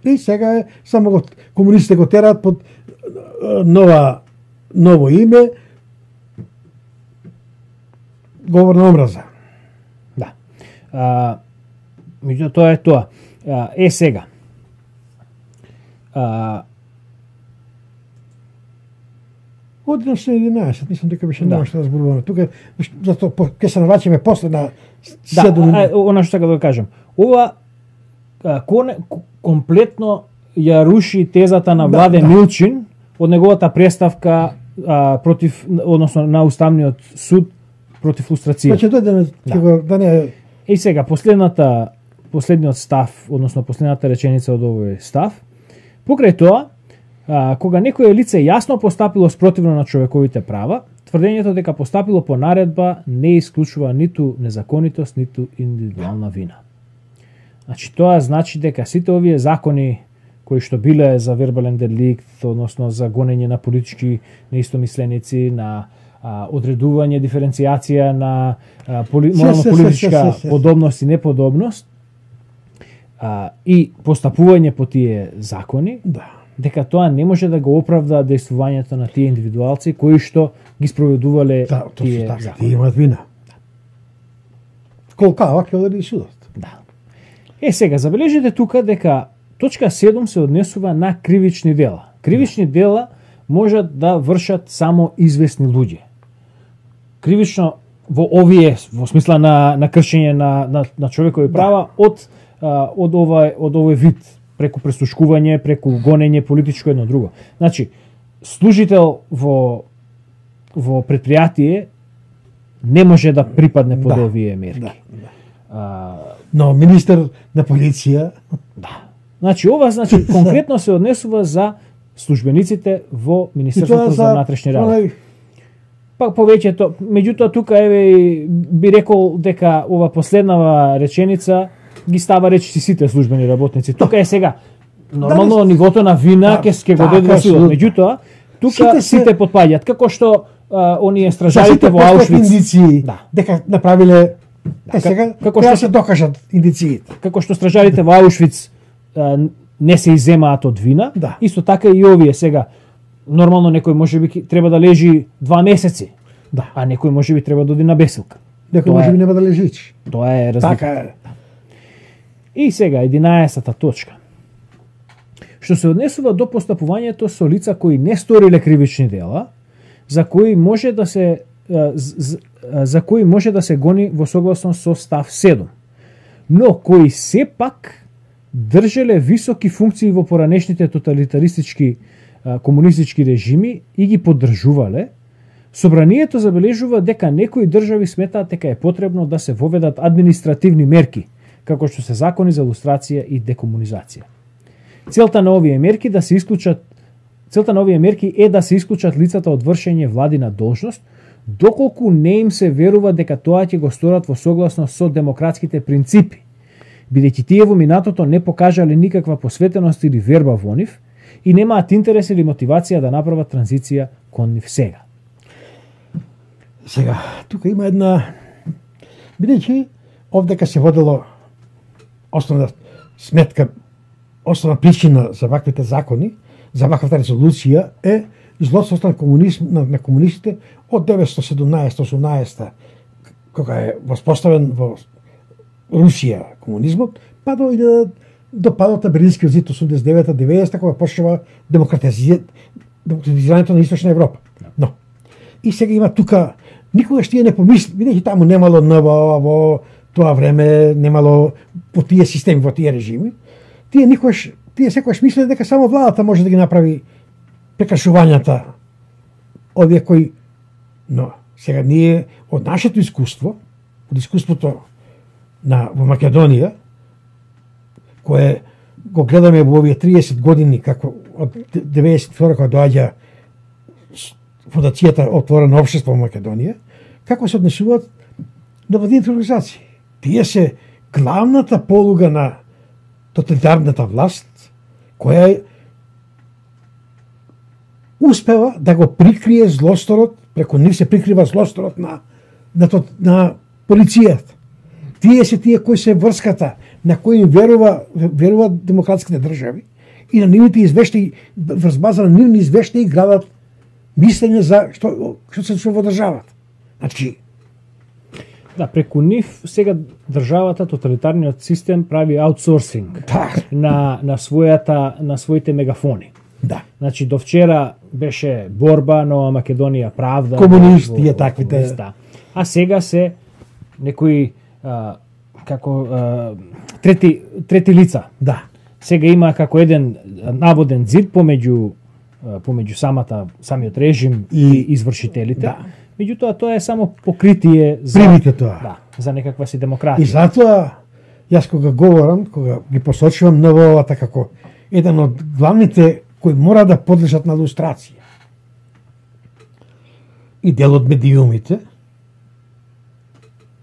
И сега само комунистите го тераат под ново име, говорна образа. Да. Меѓутоа тоа е тоа. Сега. Од 11, мислам дека беше нема што да зборуваме. Тука затоа ќе се навраќаме после на 7. Да, она што сакам да кажам. Ова комплетно ја руши тезата на Владе Милчин од неговата преставка односно на Уставниот суд против лустрација. Значи да не... И сега последниот став, односно последната реченица од овој став, покрај тоа, кога некое лице јасно постапило спротивно на човековите права, тврдењето дека постапило по наредба не исклучува ниту незаконитост, ниту индивидуална вина. Значи тоа значи дека сите овие закони кои што биле за вербален деликт, односно за гонење на политички неистомисленици, на одредување, диференцијација на морално-политичка подобност и неподобност и постапување по тие закони, дека тоа не може да го оправда действувањето на тие индивидуалци кои што ги спроведувале тие закони. Тие имаат вина. Колкава ќе оди судот. Да. Сега забележете тука дека точка 7 се однесува на кривични дела. Кривични дела можат да вршат само известни луѓе. Кривично во смисла на кршење на човекови права од овој вид, преку престушкување, преку гонење политичко едно друго. Значи, служител во предпријатие не може да припадне под овие мерки. Но министер на полиција... Да. Значи, ова конкретно се однесува за службениците во Министерството за внатрешни работи. Пак повеќето, меѓутоа тука би рекол дека ова последнава реченица ги става речиси сите службени работници. Тука е сега нормално нивото на вина ќе го дадат судот. Меѓутоа тука сите потпаѓаат како што оние стражарите во Аушвиц дека направиле сега како што се докажат индициите. Како што стражарите во Аушвиц не се иземаат од вина, исто така и овие сега нормално некој можеби треба да лежи 2 месеци, а некој можеби треба да оди на бесилка. Некој можеби нема да лежи. Тоа е разлика. Така е. И сега 11-та точка. Што се однесува до постапувањето со лица кои не сториле кривични дела, за кои може да се гони во согласност со став 7, но кои сепак држеле високи функции во поранешните тоталитаристички комунистички режими и ги поддржувале, Собранието забележува дека некои држави сметаат дека е потребно да се воведат административни мерки, како што се закони за лустрација и декомунизација. Целта на овие мерки е да се исклучат лицата од вршење владина должност, доколку не им се верува дека тоа ќе го сторат во согласност со демократските принципи, бидејќи тие во минатото не покажале никаква посветеност или верба во нив и немаат интерес или мотивација да направат транзиција кон нив сега. Сега, тука има една, бидејќи овдека се водело основна сметка, основна причина за ваквите закони, за ваквата резолуција е злоството на комунистите од 1917-18, кога е воспоставен во Русија комунизмот, па до падот на Берлинскиот зид 89-90, кога почнува демократизирањето на Источна Европа. Но, и сега има тука, никогаш тие не помисли, бидејќи таму немало НВО во тоа време, немало во тие системи, во тие режими, тие секогаш мислеле дека само владата може да ги направи прекашувањата овие кои. Но сега ние од нашето искуство, од искуството во Македонија, кое го гледаме во овие 30 години, како од 92 кога доаѓа фондацијата Отворено општество во Македонија, како се однесуваат невладините организации. Тие се главната полуга на тоталитарната власт, која успева да го прикрие злосторот, преку нив се прикрива злосторот на полицијата. Тие се тие кои се врската на кои веруваат демократските држави и на нивните извештаи, врз база на нивни извештаи градат мислење за што се случува во државата. Значи, да, преку нив сега државата, тоталитарниот систем прави аутсорсинг на своите мегафони. Да. Значи до вчера беше борба, Нова Македонија, правда, комунисти таквите. Да. А сега се некои трети лица. Да. Сега има како еден наводен зид помеѓу самиот режим и извршителите. Да. Меѓутоа тоа е само покритие за некаква си демократија. И затоа јас кога говорам, кога ги посочувам НВО-та како еден од главните кои мора да подлежат на лустрација и дел од медиумите,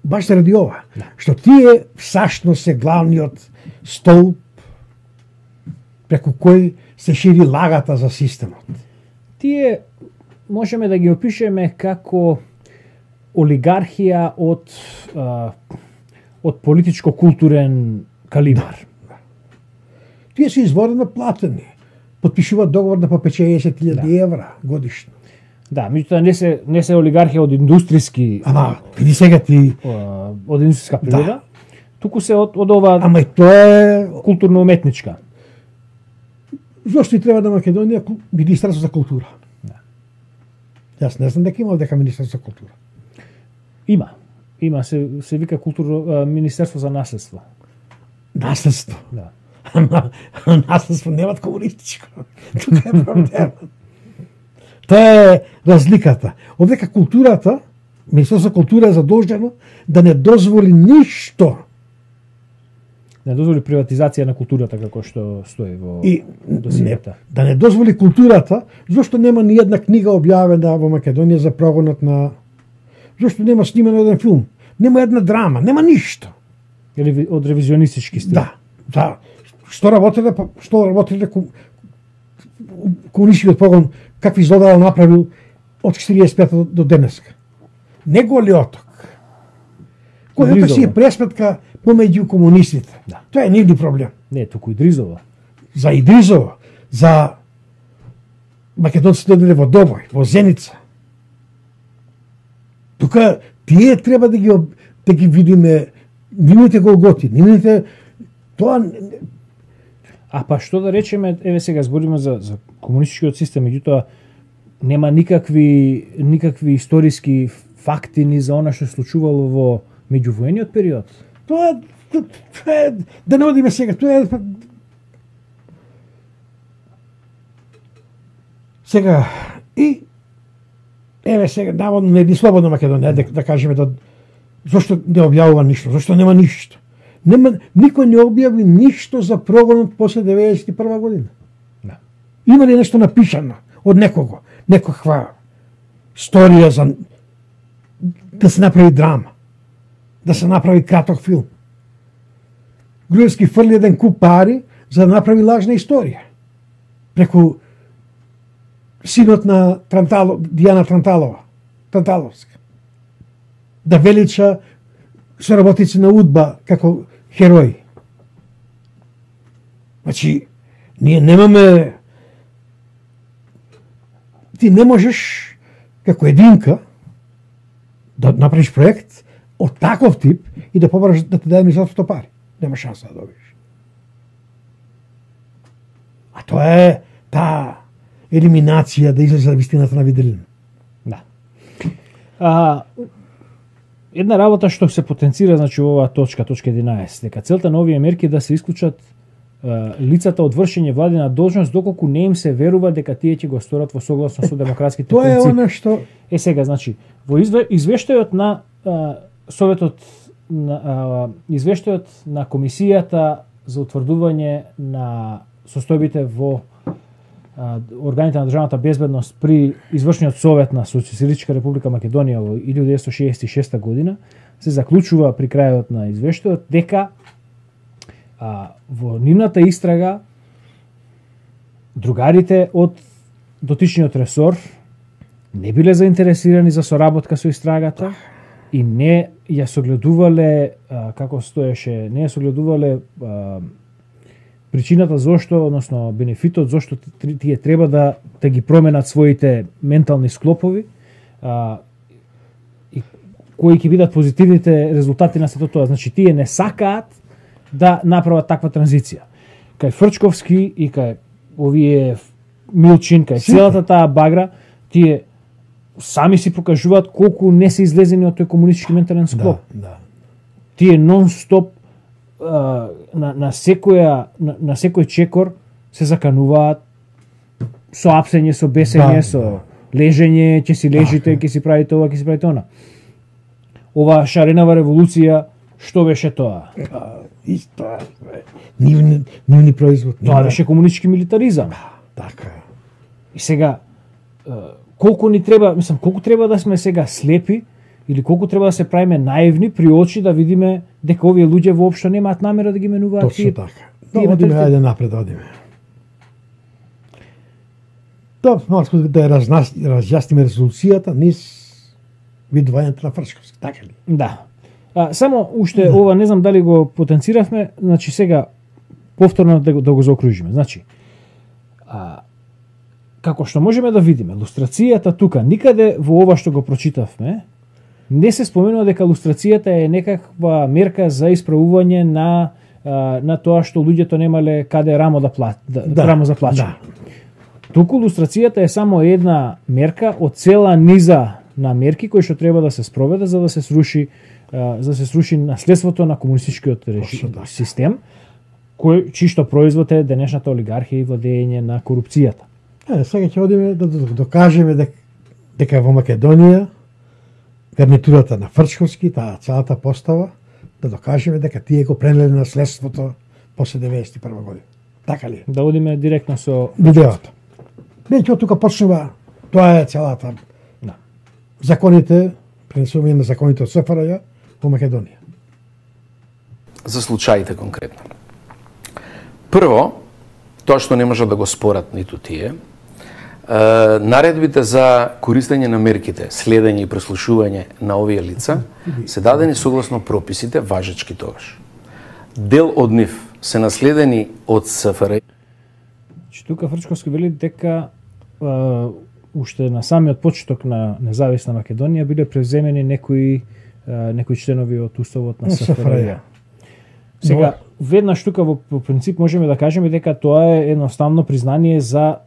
баш заради ова, што тие всашност се главниот столб преку кој се шири лагата за системот. Тие можеме да ги опишеме како олигархија од политичко-културен калибар. Да. Тие се изворено платени. Подпишуваат договор на по 50.000 евра годишно. Да, меѓутоа не се олигархија од индустријски. Види сега ти од индустријска природа, туку се од ова. Ама и тоа е културно-уметничка. Зошто и треба на Македонија Министерство за култура? Да. Јас не знам дека има дека Министерство за култура. Има се вика Министерство за наследство. Наследство. Да. Наследство немат комунистичко. Тука е проблем. Тоа е разликата. Овдека културата, Министерство за култура е задолжено да не дозволи ништо. Не дозволи приватизација на културата како што стои во досијата. Да не дозволи културата, зашто нема ни една книга објавена во Македонија за прогонот на. Зашто нема снимен еден филм, нема една драма, нема ништо. Или од ревизионистички стил. Да. Што работеле комунистичкиот погон, какви злодела направил од 45 до денеска. Не голиоток. Којата си е пресметка помеѓу комунистите. Да. Тоа е нивни проблем. Не, туку Идризово. За Идризово, за македонците дојделе во Добој, во Зеница. Тука тие треба да ги видиме нивните голготи, нивните тоа. А па што да речеме, еве сега збориме за комунистичкиот систем, меѓутоа нема никакви историски факти ни за она што се случувало во меѓувоениот период. Тоа е да не одиме сега, тоа е сега и еве сега наводно не слободна Македонија, да кажеме зошто не објавува ништо, зошто нема ништо. Никој не објави ништо за прогонот после 91 година. Да. Има ли нешто напишано од некого, некаква сторија за да се направи драма, да се направи краток филм? Груевски фрли еден куп пари за да направи лажна историја. Преку синот на Дијана Транталовска. Да велича соработници на УДБА како херои. Значи, ние немаме... Ти не можеш како единка да направиш проект од таков тип и да побараш да ти даде министерството пари. Нема шанса да добиеш. А тоа е таа елиминација да излезе вистината на виделина. Да. Една работа што се потенцира, значи оваа точка 11, дека целта на овие мерки да се исклучат лицата од вршење владина должност доколку не им се верува дека тие ќе го сторат во согласно со демократските Тоа принципи. е она што сега, значи, во извештајот на Советот извештајот на Комисијата за утврдување на состојбите во органите на државната безбедност при извршниот совет на Социјалистичка република Македонија во 1966 година се заклучува при крајот на извештајот дека во нивната истрага другарите од дотичниот ресор не биле заинтересирани за соработка со истрагата и не ја согледувале, како стоеше, не ја согледувале причината зошто, односно бенефитот зошто тие треба да ги променат своите ментални склопови и кои ќе бидат позитивните резултати на сето тоа. Значи, тие не сакаат да направат таква транзиција. Кај Фрчковски и кај овие Милчин, кај целата таа багра, тие сами си покажуваат колку не се излезени од тој комунистички ментален склоп. Да. Тие нон-стоп на секој чекор се закануваат со апсење, со бесење, со лежење, ќе си лежите, ќе си правите ова, ќе си правите она. Ова шаренава револуција, што беше тоа? Исто нивни производ. Тоа беше комунистички милитаризам. Така. И сега колку ни треба, мислам, колку треба да сме сега слепи или колку треба да се правиме наивни при очи да видиме дека овие луѓе воопшто немаат намера да ги менуваат Точно така. Одиме, ајде напред, одиме. Малку да разјасниме резолуцијата низ видувањето на Фрчковски, така ли? Да. Само уште ова не знам дали го потенциравме, значи сега повторно да го заокружиме. Значи, како што можеме да видиме, лустрацијата тука никаде во ова што го прочитавме не се споменува дека лустрацијата е некаква мерка за исправување на тоа што луѓето немале каде рамо рамо за плачење. Туку лустрацијата е само една мерка од цела низа на мерки кои што треба да се спроведе за да се сруши наследството на комунистичкиот систем, чиј што производ е денешната олигархија и владење на корупцијата. Сега ќе одиме да докажеме дека во Македонија гарнитурата на Фрчковски, таа целата постава, да докажеме дека тие го пренеле наследството после 91 година. Така ли? Да одиме директно со видеото. Веќе од тука почнува, тоа е целата. Да. Законите, пренесување на законите од СФРЈ во Македонија. За случаите конкретно. Прво, тоа што не можат да го спорат ниту тие, наредбите за користење на мерките, следење и преслушување на овие лица се дадени согласно прописите важечки тогаш. Дел од нив се наследени од СФРЈ. Тука Фрчковски вели дека уште на самиот почеток на независна Македонија биле превземени некои членови од уставот на СФРЈ. Сега, веднаш тука во принцип можеме да кажеме дека тоа е едноставно признание за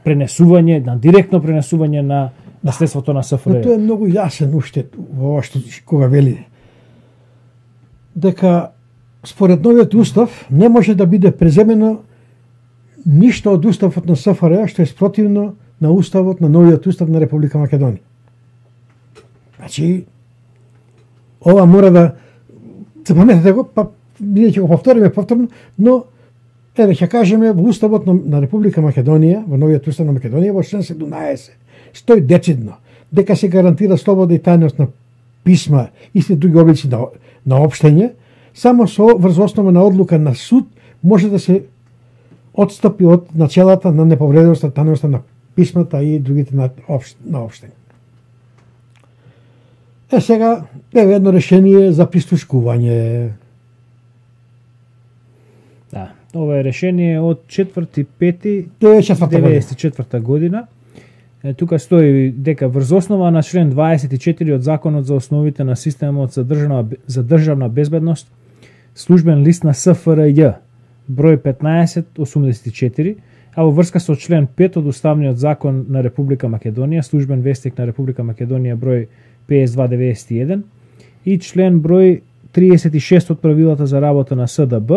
пренесување, на директно пренесување на наследството на СФРЈ. Тоа е многу јасен уште во ова што кога вели дека според новиот устав не може да биде преземено ништо од уставот на СФРЈ што е спротивно на уставот, на новиот устав на Република Македонија. Значи, ова мора да се паметете го, па ние ќе го повториме повторно, но еве ќе кажеме во уставот на Република Македонија, во новиот устав на Македонија, во член 17 стои децидно дека се гарантира слобода и тајност на писма и се други облици на општење, само врз основа на одлука на суд може да се отстапи од начелата на неповредливост на тајноста на писмата и другите на општење. Сега, еве едно решение за прислушкување. Да, ова е решение од 4.5.94 година. Тука стои дека врз основа на член 24 од Законот за основите на системот за државна безбедност, службен лист на СФРЈ, број 1584, а во врска со член 5 од Уставниот закон на Република Македонија, службен вестник на Република Македонија, број 5291, и член број 36 од правилата за работа на СДБ,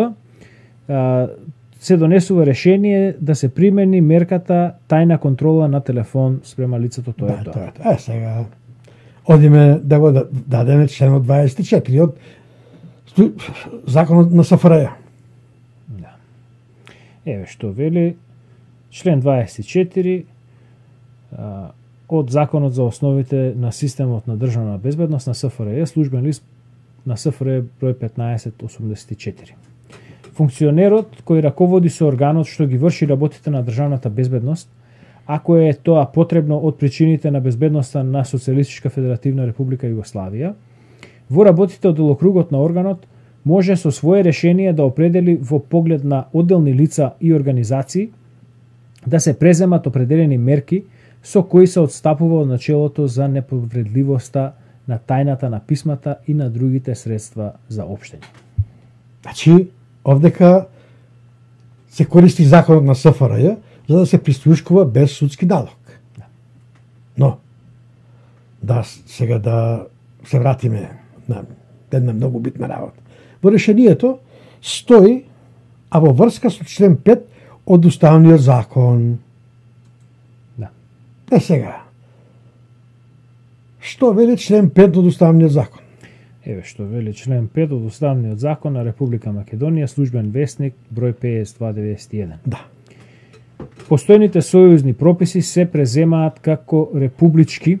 се донесува решение да се примени мерката тајна контрола на телефон спрема лицето, тоа е тоа. Сега одиме да го дадеме членот 24 од Законот на СФРЈ. Да. Еве што вели член 24 од Законот за основите на системот на државна безбедност на СФРЈ, службен лист на СФРЈ број 1584. Функционерот кој раководи со органот што ги врши работите на државната безбедност, ако е тоа потребно од причините на безбедноста на Социјалистичка Федеративна Република Југославија, во работите од делокругот на органот може со свое решение да определи во поглед на одделни лица и организации да се преземат определени мерки со кои се отстапува од начелото за неповредливоста на тајната на писмата и на другите средства за општење. Значи, овдека се користи законот на СФРЈ за да се прислушкува без судски налог. Но, сега да се вратиме на една многу битна работа. Во решението стои, а во врска со член 5 од Уставниот закон. Да. Сега, што вели член 5 од Уставниот закон? Еве што вели член 5 од Уставниот закон на Република Македонија, службен вестник, број 5291. Да. Постојните сојузни прописи се преземаат како републички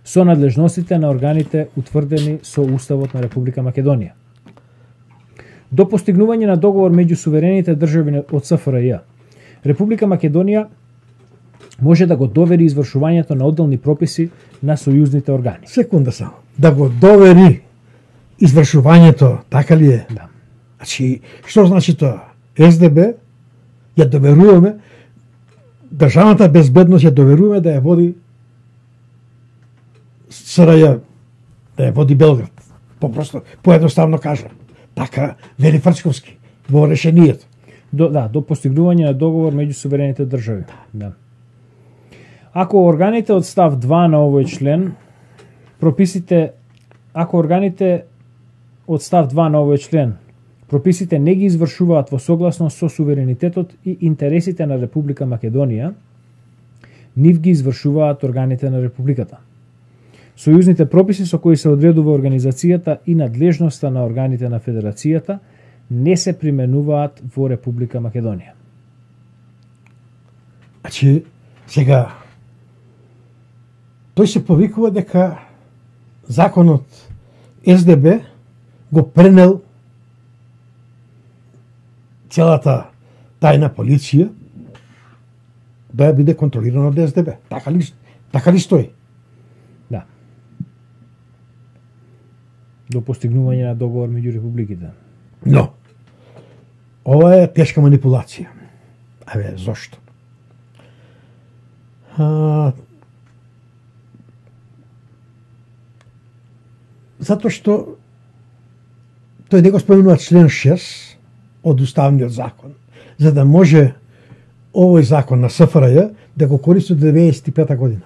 со надлежностите на органите утврдени со Уставот на Република Македонија. До постигнување на договор меѓу суверените држави од СФРЈ, Република Македонија може да го довери извршувањето на одделни прописи на сојузните органи. Секунда само. Да го довери извршувањето, така ли е? Да. Значи, што значи тоа? СДБ ја доверуваме, државната безбедност ја доверуваме да ја води СРЈ, да ја води Белград. Попросто, поедноставно кажа. Така вели Фрчковски во решението. До постигнување на договор меѓу суверените држави. Да. Ако органите од став 2 на овој член прописите не ги извршуваат во согласност со суверенитетот и интересите на Република Македонија, нив ги извршуваат органите на Републиката. Сојузните прописи со кои се одредува организацијата и надлежноста на органите на Федерацијата не се применуваат во Република Македонија. Значи, сега, тој се повикува дека законот СДБ го пренел целата тајна полиција да биде контролирана од СДБ. Така ли стои? Да. До постигнување на договор меѓу републиките. Но, ова е тешка манипулација. Зошто? Затоа што тој не го споменува член 6 од Уставниот закон, за да може овој закон на СФРЈ да го користи до 1995 година.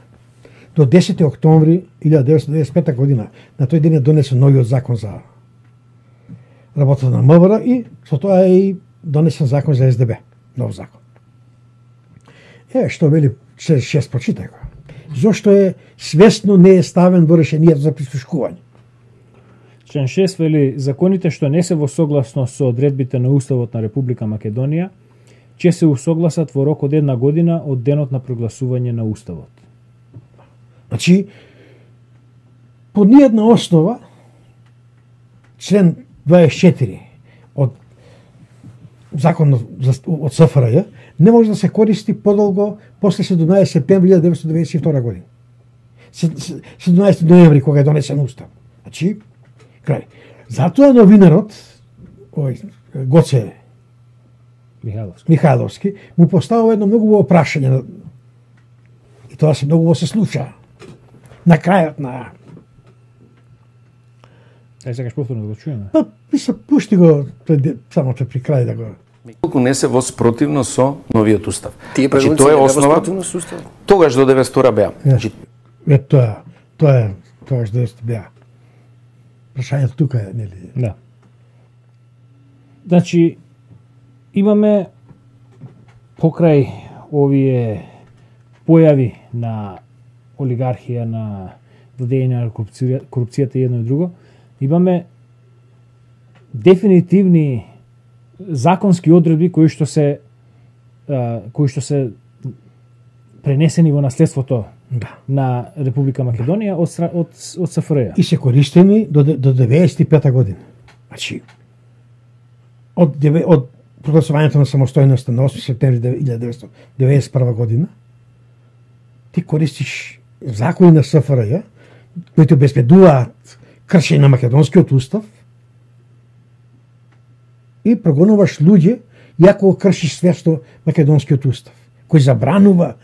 До 10. октомври 1995 година, на тој ден е донесен новиот закон за работата на МВР и со тоа е и донесен закон за СДБ, нов закон. Што вели член 6, прочитај го. Зошто е свесно не е ставен во решението за прислушкување? Член 6 вели законите што не се во согласност со одредбите на Уставот на Република Македонија ќе се усогласат во рок од 1 година од денот на прогласување на Уставот. Значи, по ниједна основа, член 24 од законот од СФРЈ не може да се користи подолго после 17 септември 1992 година. 17 ноември кога е донесен устав. Значи, крај. Затоа новинарот, Гоце Михайловски, му поставува едно многу убаво прашање и тоа се многу се слуша. На крајот на сакаш повторно да го чуеме? Па, пушти го само при крај да го. Колку не се во спротивно со новиот устав. Тие Значи тоа е основа. Тогаш до 92 беа. Значи Тоа е тогаш до 92 беа. Прашањето тука е, нели? Да. Значи имаме покрај овие појави на олигархија, на владење на корупцијата и едно и друго, имаме дефинитивни законски одредби кои што се пренесени во наследството на Република Македонија од СФРЈ. И се користени до 95 година. Значи, од прогласувањето на самостојноста на 8 септември 1991 година, ти користиш закони на СФРЈ, кои обезбедуваат кршење на македонскиот устав и прогонуваш луѓе, иако кршиш свесто македонскиот устав, кој забранува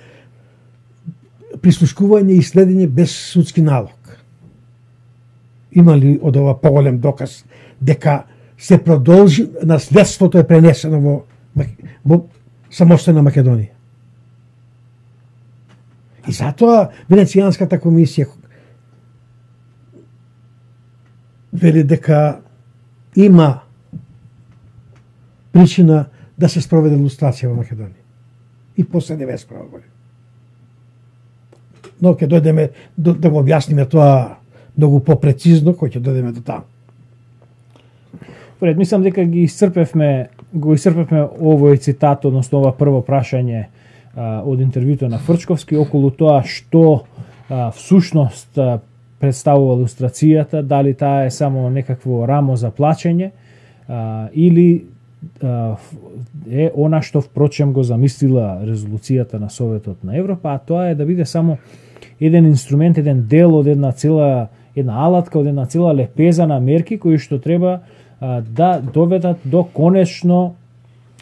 прислушкување и следење без судски налог. Има ли од ова поголем доказ дека се продолжи, наследството е пренесено во самостојна Македонија? И затоа Венецијанската комисија вели дека има причина да се спроведе лустрација во Македонија. И после 91 година. Но ќе дојдеме да го објасниме тоа многу попрецизно, кој ќе дојдеме до таму. Пред, мислам дека го исцрпевме овој цитат, односно ова прво прашање од интервјуто на Фрчковски околу тоа што всушност представува лустрацијата, дали таа е само некакво рамо за плачење или е она што впрочем го замислила резолуцијата на Советот на Европа, а тоа е да биде само еден инструмент, еден дел од една алатка, од една цела лепеза на мерки кои што треба да доведат до конечно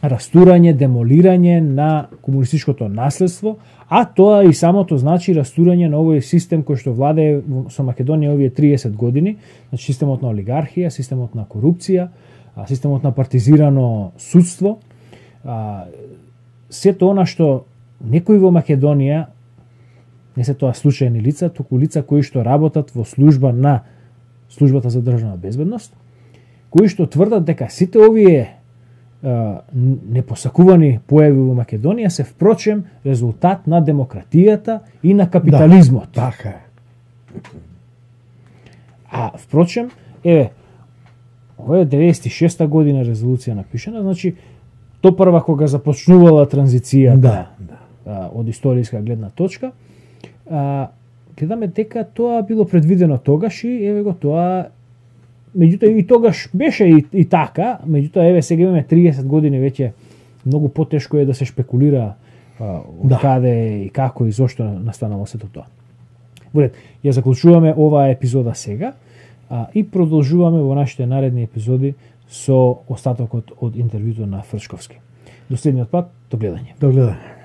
растурање, демолирање на комунистичкото наследство, а тоа и самото значи растурање на овој систем кој што владее со Македонија овие 30 години, значи системот на олигархија, системот на корупција, системот на партизирано судство, сето она што некои во Македонија, не се тоа случајни лица, туку лица кои што работат во службата за државна безбедност, кои што тврдат дека сите овие непосакувани појави во Македонија се впрочем резултат на демократијата и на капитализмот. Да, така е. А впрочем, ова е 96-та година резолуција напишана, значи то прва кога започнувала транзицијата од историска гледна точка, гледаме дека тоа било предвидено тогаш и еве го тоа. Меѓутоа и тогаш беше и така, меѓутоа сега имаме 30 години веќе, многу потешко е да се шпекулира каде и како и зошто настанало сето тоа. Во ред, ја заклучуваме оваа епизода сега и продолжуваме во нашите наредни епизоди со остатокот од интервјуто на Фрчковски. До следниот пат, до гледање. До гледање.